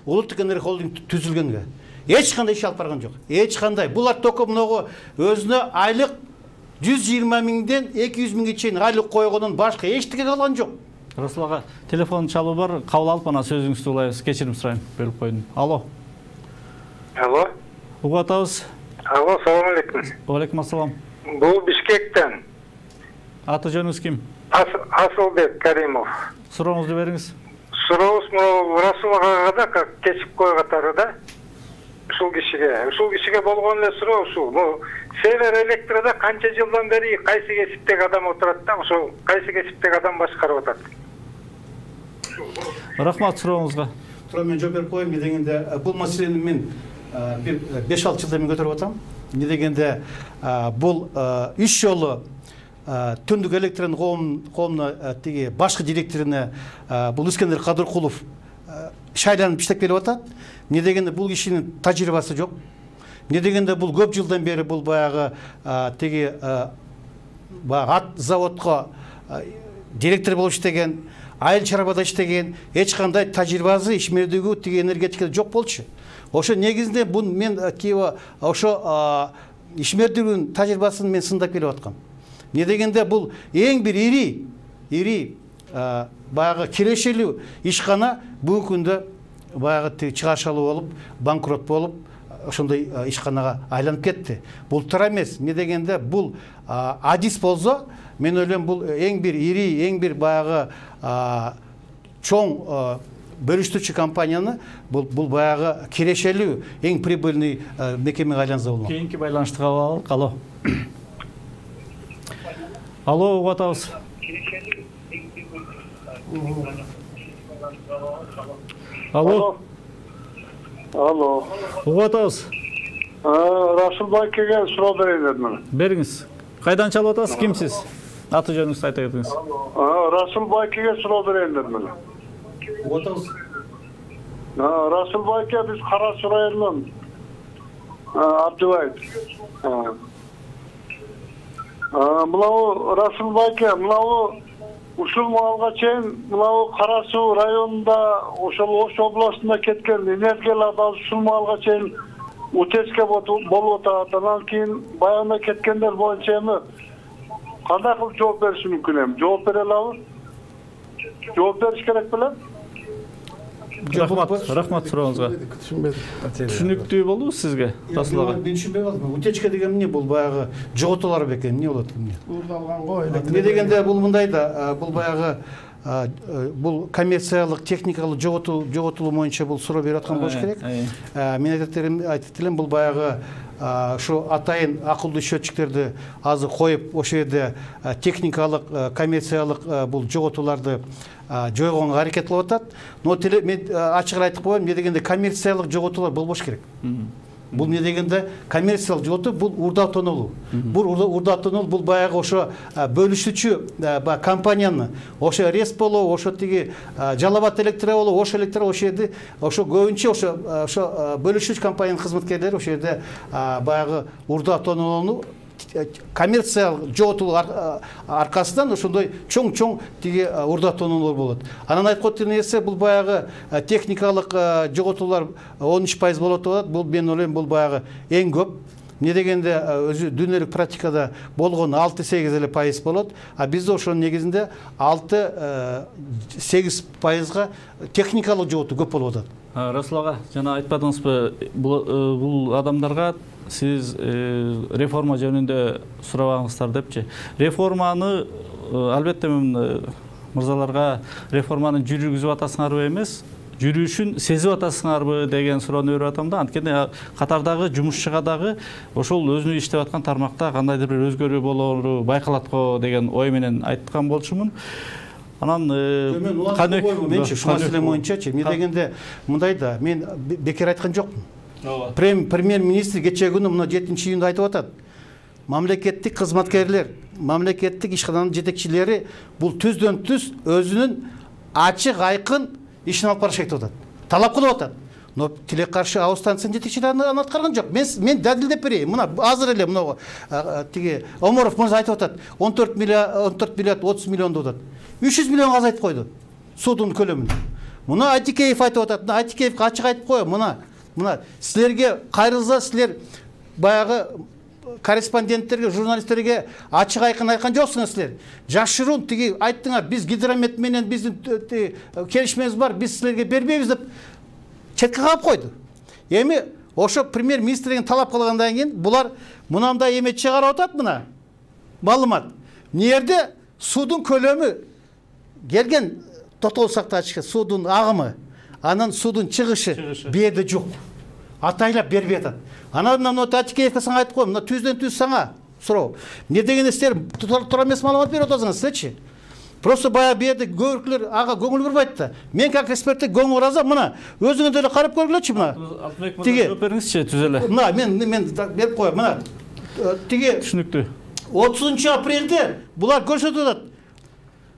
Улуттук энергохолдинг түзүлгөнгө. Эч кандай иш алып барган жок. Эч кандай. Булар только мынагу өзүнө айлык 120 миңден 200 миңге чейин айлык койгондон башка эчтеке калган жок. Расул ага, телефон чалуу бар, кабыл алып анан сөзүңүздү улайбыз. Кечирим сурайм, бөлүп койдум. Алло. Алло. Угуп атабыз. Алло, салам алейкум. Алейкум ассалам. Бул Бишкектен. Аты жөнүңүз ким? Асылбек Каримов. Сурооңузду бериңиз. Сурооңуз Расул агага да как кечип койготары да. Ушул кишиге болгон эле суроо ушул. Север Электрода канча жылдан бери кайсы кесиптеги адам отурат да, ошол кайсы кесиптеги адам башкарып атат? Рахмат сурооңузга. Тура мен жооп берип коеюн. Не дегенде бул маселени мен бир 5-6 жылдан бери көтөрүп атам. Не дегенде бул 3 жолу Түндүк электрон коомуна тиги башкы директоруна бул Искендер Кадыркулов шайланып иштеп келип атат. Не дегенде бул кишинин тажрыйбасы жок. Не дегенде бул көп жылдан бери бул баягы тиги ат заводко директор болуп иштеген, айыл чарбада иштеген, эч кандай тажрыйбасы ишмердиги тиги энергетикада жок болчу. Ошо негизинде бул мен ошо ишмердигинин тажрыйбасын мен сындап келип аткам. Не дегенде бул эң бир ири баягы кирешелүү ишкана бүгүнкү күндө баягы чыгаршалуу болуп, банкрот болуп, ошондой ишканага айланып кетти. Бул туура эмес. Не дегенде бул адис болсо, мен ойлойм бул эң бир ири, эң бир баягы чоң бөлүштүрүүчү компанияны бул баягы кирешелүү, эң прибыльный мекемеге айланса болмок. Кийинки байланышты кабыл алалык. Алло. Алло, угуп атабыз. Алло. Алло. Угуп атабыз. Расул байкеге суроо берейин дедим. Бериңиз. Кайдан чалып атасыз? Кимсиз? Аты жөнүңүздү айта кетиңиз. Расул байкеге суроо берейин дедим. Угуп атабыз. Расул байке биз Кара Суу районунан Абдыбаев. Мынау Расул байке, мынау ушул маалга чейин мынау Кара Суу районунда ошол Ош областында кеткен энергияларды ушул маалга чейин утечка болуп атат. Анан кийин баягында кеткендер боюнча эми кандай кылып жооп бериш мүмкүн эми? Жооп бере алабы? Жооп бериш керек беле? Рахмат сурооңузга. Түшүнүктүү болдубу сизге? Расул ага. Мен түшүнбөй калдым. Утечка деген эмне? Бул баягы жоготуулар бекен, эмне болот эмне? Уурдалган го эле. Не дегенде бул мындай да, бул баягы бул коммерциялык, техникалык жоготулуу боюнча бул суроо берип аткан болуш керек. Мен айтып элем, бул баягы ушу атайын акылдуу счетчиктерди азыр коюп, ошол жерде техникалык, коммерциялык бул жоготууларды жойгонго аракет кылып атат. Но мен ачыгын айтып коеюн, не дегенде коммерциялык жоготуулар болбош керек. Бул не дегенде коммерциялык жоготуу бул урда автономдуу. Бул урда автономдуу бул баягы ошо бөлүшүүчү компанияны, ошо Респоло, ошо тиги Жалал Абад электро болобу, ошо электро ошо жерде ошо көбүнчө ошо бөлүшүүчү компаниянын кызматкерлери ошо жерде баягы урда автономдууну коммерциялык жоготулуу аркасынан ошондой чоң тиги урдатуулар болот. Анан айтып коет нерсе бул баягы техникалык жоготуулар 13% болот деп атат. Бул мен ойлойм бул баягы эң көп. Не дегенде өзү дүйнөлүк практикада болгон 6-8 эле пайыз болот, а бизде ошонун негизинде 6-8%га техникалык жоготуу көп болуп атат. Расул ага, жана айтпадыңызбы, бул адамдарга сиз реформа жөнүндө сурабаңыздар депчи. Реформаны албетте мен мырзаларга реформаны жүргүзүп атасыңарбы эмес, жүрүшүн сезип атасыңарбы деген суроону берип атам да. Анткени катардагы жумушчуга дагы ошол өзүнүн иштеп аткан тармакта кандайдыр бир өзгөрүү болоору байкалат го деген ой менен айткан болчумун. Анан менчи ушул маселе боюнчачы эмне дегенде мындай да, мен бекер айткан жокмун. Премьер-министр кечээ күнү мына 7-июнда айтып атат. Мамлекеттик кызматкерлер, мамлекеттик ишкананын жетекчилери бул түздөн-түз өзүнүн ачык айкын ишин алып барышат деп атат. Талап кылып атат. Но тилек каршы АО станциянын жетекчилери аны аткарган жок. Мен далилдеп берейин. Мына азыр эле мына тиги Оморов мырза айтып атат. 14 миллиард 30 миллион деп атат. 300 миллионго азайтып койду судун көлөмүн. Мына Айтикеев айтып атат. Айтикеевге ачык айтып коем. Мына силерге кайрылса, силер баягы корреспонденттерге, журналисттерге ачык айкын айткан жоксуңар силер. Жашыруун тиги айттыңар, биз Гидромет менен биздин келишимибиз бар, биз силерге бербейбиз деп четке калып койду. Эми ошо премьер-министр деген талап кылгандан кийин булар мынандай эме чыгарып атат, мына маалымат. Эмне жерде судун көлөмү келген токтогул сактагычка судун агымы, анан судун чыгышы берде жок. Атайлап бербей атат. Анан Айтикеевке сага айтып коем, мына түздөн-түз сага суроо. Эмне дегенде силер туура эмес маалымат берип атасыңар силерчи? Просто баягы берде көбүрөклөр ага көңүл бурбайт да. Мен как эксперттик көңүл буразам, мына өзүңөр деле карап көргүлөчү мына. Тиги жооп бериңизчи түз эле. Мына мен берип коем, мына. Тиги түшүнүктүү. 30 апрелде булар көрсөтүп атат.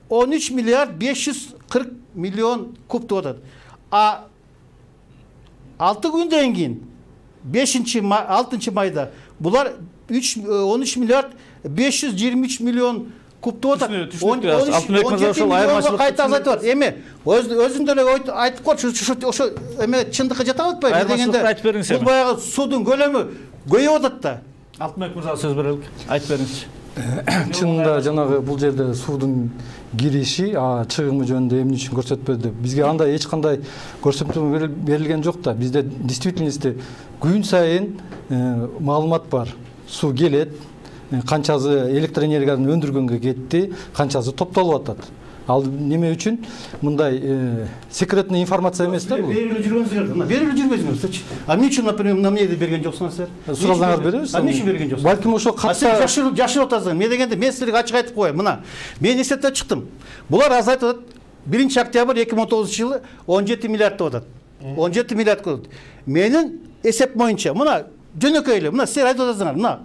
13 миллиард 540 миллион куб деп атат. А 6 күндөн кийин 6 майда булар 13 миллиард 523 миллион куб деп атат. 17 миллионго кайта азайтып атат. Эми өзүндө эле айтып койчу, ошо эме чындыкка жата атпайбы дегенде. Бул баягы судун көлөмү көйүп атат да. Алтынбек мырзага сөз берелик. Айтып бериңизчи. Чынында жанагы бул жерде судун кириши, чыгымы жөнүндө эмне үчүн көрсөтпөдү? Бизге андай эч кандай көрсөтмө берилген жок да. Бизде действительности күн сайын маалымат бар. Суу келет, канчасы электроэнергияны өндүргөнгө кетти, канчасы топтолуп атат. Ал неме үчүн мындай секретный информация эмес да бул. Берилип жүргөнсүңөр, мына берилип жүрбөйсүңөр. А эмне үчүн, например, эмнеди берген жоксуңар силер? Сурасаңар беребиз. Эмне үчүн берген жоксуңар? Балким ошо катта жашырып атасыңар. Эмне дегенде мен силерге ачык айтып коем. Мына мен эсептеп чыктым. Булар азайтып атат. 1 октябрь 2019-жылы 17 миллиард деп атат. 17 миллиард болот. Менин эсеп боюнча, мына жөнөкөй эле, мына силер айтып атасыңар. Мына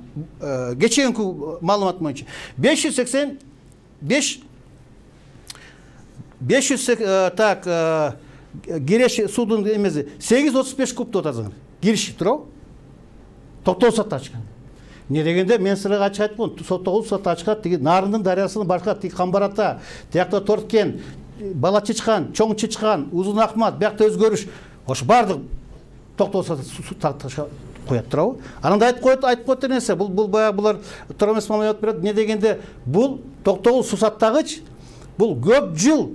кечээкү маалымат боюнча 500 так киреш судун эмеси 835 куб деп атасыңар. Кириши туурабы? Токтогул сактагычка. Эмне дегенде мен силерге ачык айтып коем, токтогул сактагычка тиги Нарындын дарыясынын башка тиги Камбарата, тиякта Торткен, Бала Чычкан, Чоң Чычкан, Узун Акмат, биякта өзгөрүш, ошо баардык токтогул сактагычка коет туурабы? Анан айтып коет нерсе, бул баягы булар туура эмес маалымат берет. Эмне дегенде бул токтогул суу сактагыч бул көп жыл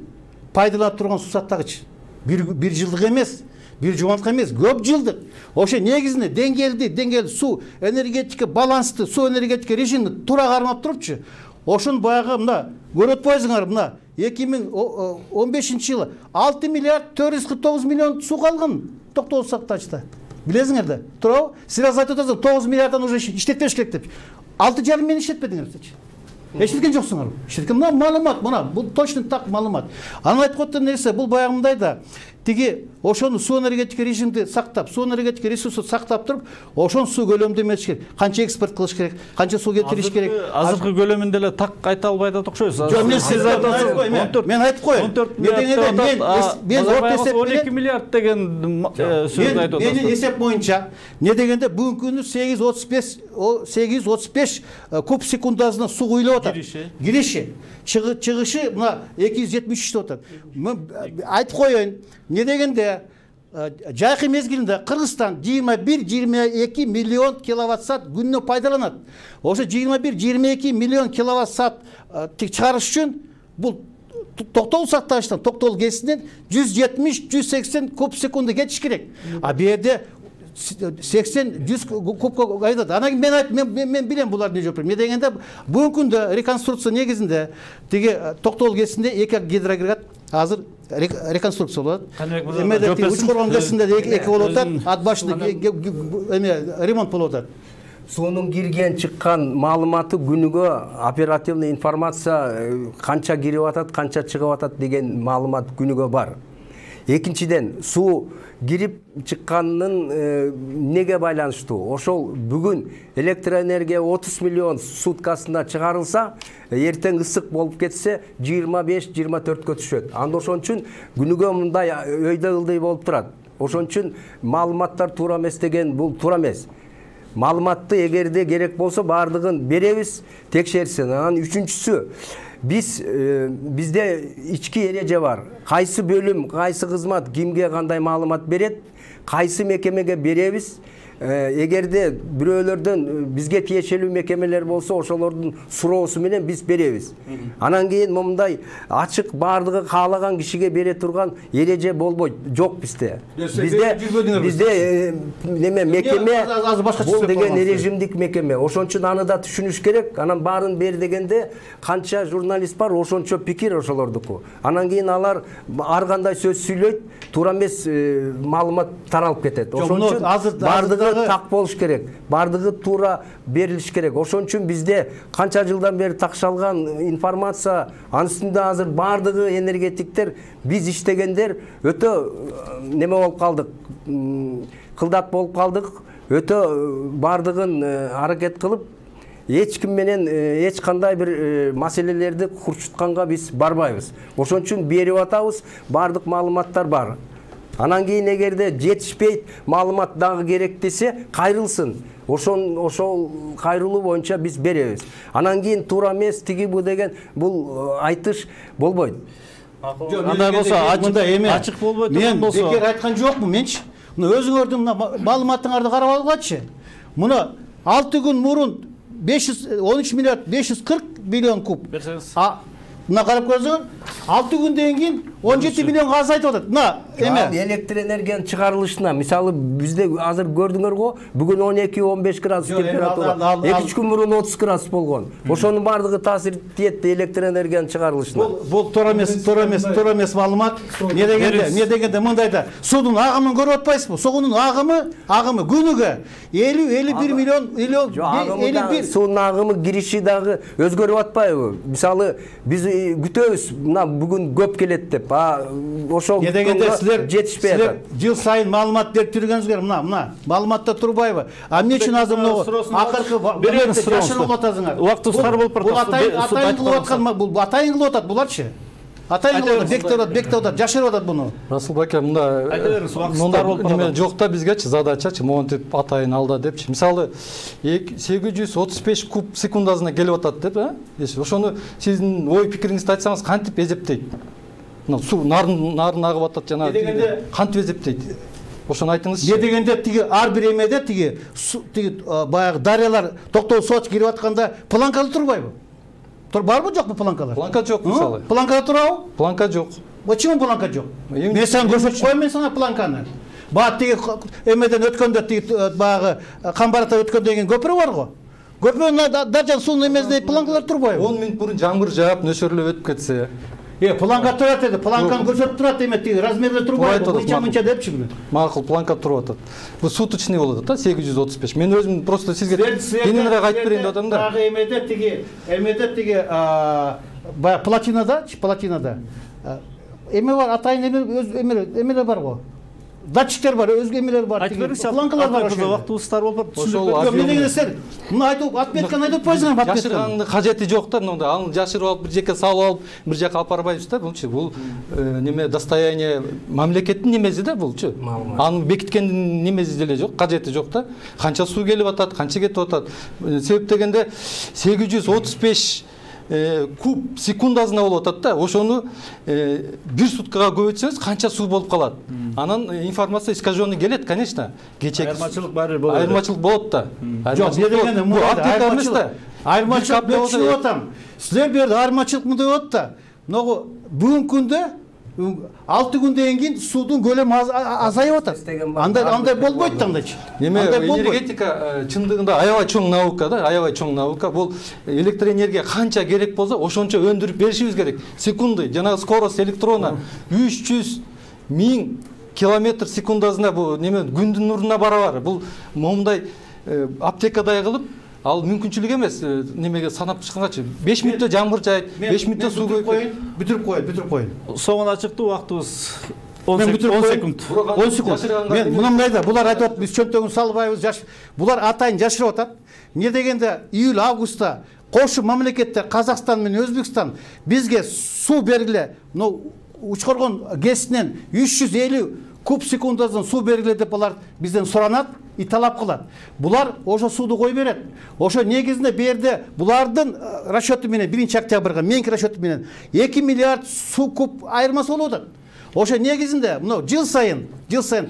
пайдаланып турган суу сактагыч. Бир жылдык эмес, бир жуманткы эмес, көп жылдык. Ошо негизинде деңгээлди суу энергетика балансты, суу энергетика режимди туура кармап турупчу. Ошон баягы мына көрөт бойсуңар, мына 2015-жылы 6 миллиард 449 миллион суу калган токтогул сактагычта. Билесиңер да, туурабы? Силер айтып атасыңар 9 миллиарддан уже иштетпеш керек деп. 6,5 миллион иштетпедиңерчи. Эчтеке жоксуңар. Иштеткен маалымат, мына бул точно так маалымат. Анан айтып коет нерсе, бул баягы мындай да. тиги ошону суу энергетика режимди сактап, суу энергетика ресурсу сактап туруп, ошон суу көлөмүндө эметиш керек. Канча экспорт кылыш керек, канча суу кетириш керек. Азыркы көлөмүндө эле так айта албай атат окшойсуз. Жок, мен сиз мен айтып коеюн. 14 миллиард 12 миллиард деген сөздү айтып атат. Менин эсеп боюнча, не дегенде бүгүнкү күнү 835 куб секундасына суу куюлуп атат. Кириши, чыгышы мына 273 деп атат. Айтып коеюн, не дегенде жайкы мезгилинде Кыргызстан 21-22 миллион киловатт саат күнүнө пайдаланат. Ошо 21-22 миллион киловатт саат чыгарыш үчүн бул токтогул сактагычтан, токтогул ГЭСинен 170-180 куб секунда кетиш керек. А бу жерде 80-100 кубка айтат. Анан мен билем булар не жооп. Эмне дегенде бүгүнкү күндө реконструкция негизинде тиги токтогул ГЭСинде 2 гидроагрегат азыр реконструкция болот. Эмеде Учкоргон ГЭСинде 2 болуп атат, ат башында ремонт болуп атат. Суунун кирген чыккан маалыматы күнүгө оперативный информация канча кирип атат, канча чыгып атат деген маалымат күнүгө бар. Экинчиден, суу кирип чыкканынын неге байланыштуу? Ошол бүгүн электроэнергия 30 миллион суткасына чыгарылса, эртең ысык болуп кетсе 25-24 түшөт. Анда ошон үчүн күнүгө мындай өйдө ылдый болуп турат. Ошон үчүн маалыматтар туура эмес деген бул туура эмес. Маалыматты эгерде керек болсо бардыгын беребиз, текшерсин. Анан үчүнчүсү, бизде ички эреже бар. Кайсы бөлүм, кайсы кызмат кимге кандай маалымат берет, кайсы мекемеге беребиз. Эгерде бирөөлөрдөн бизге тиешелүү мекемелер болсо, ошолордун суроосу менен биз беребиз. Анан кийин момундай ачык бардыгы каалаган кишиге бере турган эреже болбойт. Жок бизде. Бизде неме мекеме бул деген режимдик мекеме. Ошон үчүн аны да түшүнүш керек. Анан баарын бер дегенде канча журналист бар, ошончо пикир ошолордуку. Анан кийин алар ар кандай сөз сүйлөйт, туура эмес маалымат таралып кетет. Ошон үчүн бардыгы так болуш керек. Бардыгы туура берилиш керек. Ошон үчүн бизде канча жылдан бери такшалган информация, анын үстүндө азыр бардыгы энергетиктер, биз иштегендер өтө неме болуп калдык, кылдат болуп калдык. Өтө бардыгын аракет кылып, эч ким менен эч кандай бир маселелерди курчутканга биз барбайбыз. Ошон үчүн берип атабыз, бардык маалыматтар бар. Анан кийин эгерде жетишпейт, маалымат дагы керек десе, кайрылсын. Ошол кайрылуу боюнча биз беребиз. Анан кийин туура эмес тиги бу деген бул айтыш болбойт. Андай болсо ачык болбойт турган болсо. Мен бекер айткан жокмун менчи. Мына өзүңөрдүн маалыматыңарды карап алгачы. Мына 6 күн мурун 13 миллиард 540 миллион куб. Мына карап көрсөң, 6 күндөн кийин 17 миллионго азайтып атат. Мына эме электр энергиянын чыгарылышына, мисалы бизде азыр көрдүңөр го, бүгүн 12-15 градус температура, 2 күн мурун 30 градус болгон. Ошонун бардыгы таасир этти электр энергиянын чыгарылышына. Бул туура эмес маалымат. Не дегенде мындайда, суунун агымын көрүп атпайсызбы? Суунун агымы күнүгө 50-51 миллион 51 суунун агымы кириши дагы өзгөрүп атпайбы? Мисалы биз күтөбүз, мына бүгүн көп келет деп. Ошол жетишпей атат. Жыл сайын маалымат берип жүргөнүзгөр, мына маалыматта турбайбы? А эмне үчүн азыр могу акыркы жашырып атасыңар? Убактыбыз тар болуп барат. Атайын кылып аткан, бул атайын кылып атат буларчы? Атайын кылып атат, бектеп атат, жашырып атат буну. Расул ака, мында жок да бизгечи задачачы, монтип атайын алда депчи. Мисалы 835 куб секундасына келип атат деп, ошону сиздин ой пикириңизди айтсаңыз кантип эсептейт? Суу нарын агып атат жана кантип эсептейт? Ошону айтыңызчы. Не дегенде тиги ар бир эмеде тиги баягы дарыялар токтогул суу кирип атканда планкада турбайбы? Барбы жокпу планкалар? Планка жок мисалы. Планкада турабы? Планка жок. Почему планка жок? Мен сага көрсөтүп коеюн, мен сага планканы. Баат тиги эмеден өткөндө тиги баягы Камбарата өткөндөн кийин көпүрө бар го. Көпүрөнүн даржан суунун эмесинде планкалар турбайбы? 10 мүнөт мурун жамгыр жаап, нөшөрлөп өтүп кетсе. Планка турат деди, планканы көрсөтүп турат эме тиги размерлер турбайбы? Мынча депчи бүнө. Макул, планка туруп атат. Бул суточный болот да, 835. Мен өзүм просто сизге кененирээк айтып берейин деп атам да. Дагы эмеде тиги баягы платинада эме бар, атайын эмелер бар го. Датчиктер бар, өзгө эмелер бар. Айтып бериңизчи. Планкалар бар. Вакытыбыз тар болуп Ошол мен деген сен муну айтып отметканы айтып атпайсыңар, жашыргандын кажети жок да, мындай аны жашырып алып бир жака салып алып бир жака алып барбайбыз да. Булчу бул неме достояние мамлекеттин немеси да булчу. Аны бекиткендин немеси деле жок, кажети жок да. Канча суу келип атат, канча кетип атат. Себеп дегенде 835 куб секундасына болуп атат да. Ошону бир суткага көбөйтсөңүз канча суу болуп калат. Анан информация искаженный келет, конечно. Кечеги айырмачылык бар болот. Айырмачылык болот да. Жок, не дегенде бул айырмачылык деп түшүнүп атам. Силер бу жерде айырмачылык мындай болот да. Могу бүгүнкү күндө 6 күндөн кийин суудун көлөмү азайып атат. Андай болбойт да андайчы. Неме энергетика чындыгында аябай чоң наука да, аябай чоң наука. Бул электроэнергия канча керек болсо, ошончо өндүрүп беришибиз керек. Секунды, жана скорость электрона 300 000 километр секундасына бул неме күндүн нуруна барабар. Бул момундай аптекадай кылып ал мүмкүнчүлүк эмес. Немеге санап чыккангачы 5 мүнөттө жамгыр жайт, 5 мүнөттө суу бүтүрүп коюн. Соңуна чыкты, вакытыбыз 10 секунд. 10 секунд. Мен мындай да, булар айтып атат, биз чөнтөгүн салбайбыз, булар атайын жашырып атат. Эмне дегенде июль августта кошу мамлекеттер Казакстан менен Өзбекстан бизге суу бергиле, Учкоргон ГЭСинен 350 куб секундасынан суу бергиле деп алар бизден суранат и талап кылат. Булар ошо сууду кой берет. Ошо негизинде бу жерде булардын расчеты менен 1 октябрга менин расчетум менен 2 миллиард суу куб айырмасы болуп атат. Ошо негизинде мына жыл сайын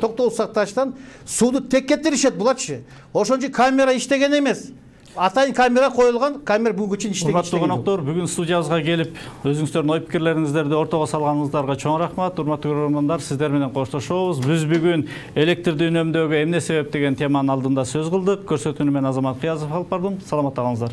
токтогул сакташтан сууду тек кетиришет буларчы. Ошончо камера иштеген эмес. Атайын камера коюлган, камера бүгүнкү чейин иштеген. Урматтуу коноктор, бүгүн студиябызга келип, өзүңүздөрдүн ой пикирлериңиздерди ортого салганыңыздарга чоң рахмат. Урматтуу көрөрмандар, сиздер менен коштошобуз. Биз бүгүн электрди үнөмдөөгө эмне себеп деген теманын алдында сөз кылдык. Көрсөтүүнү мен Азамат Кыязов алып бардым. Саламатта калыңыздар.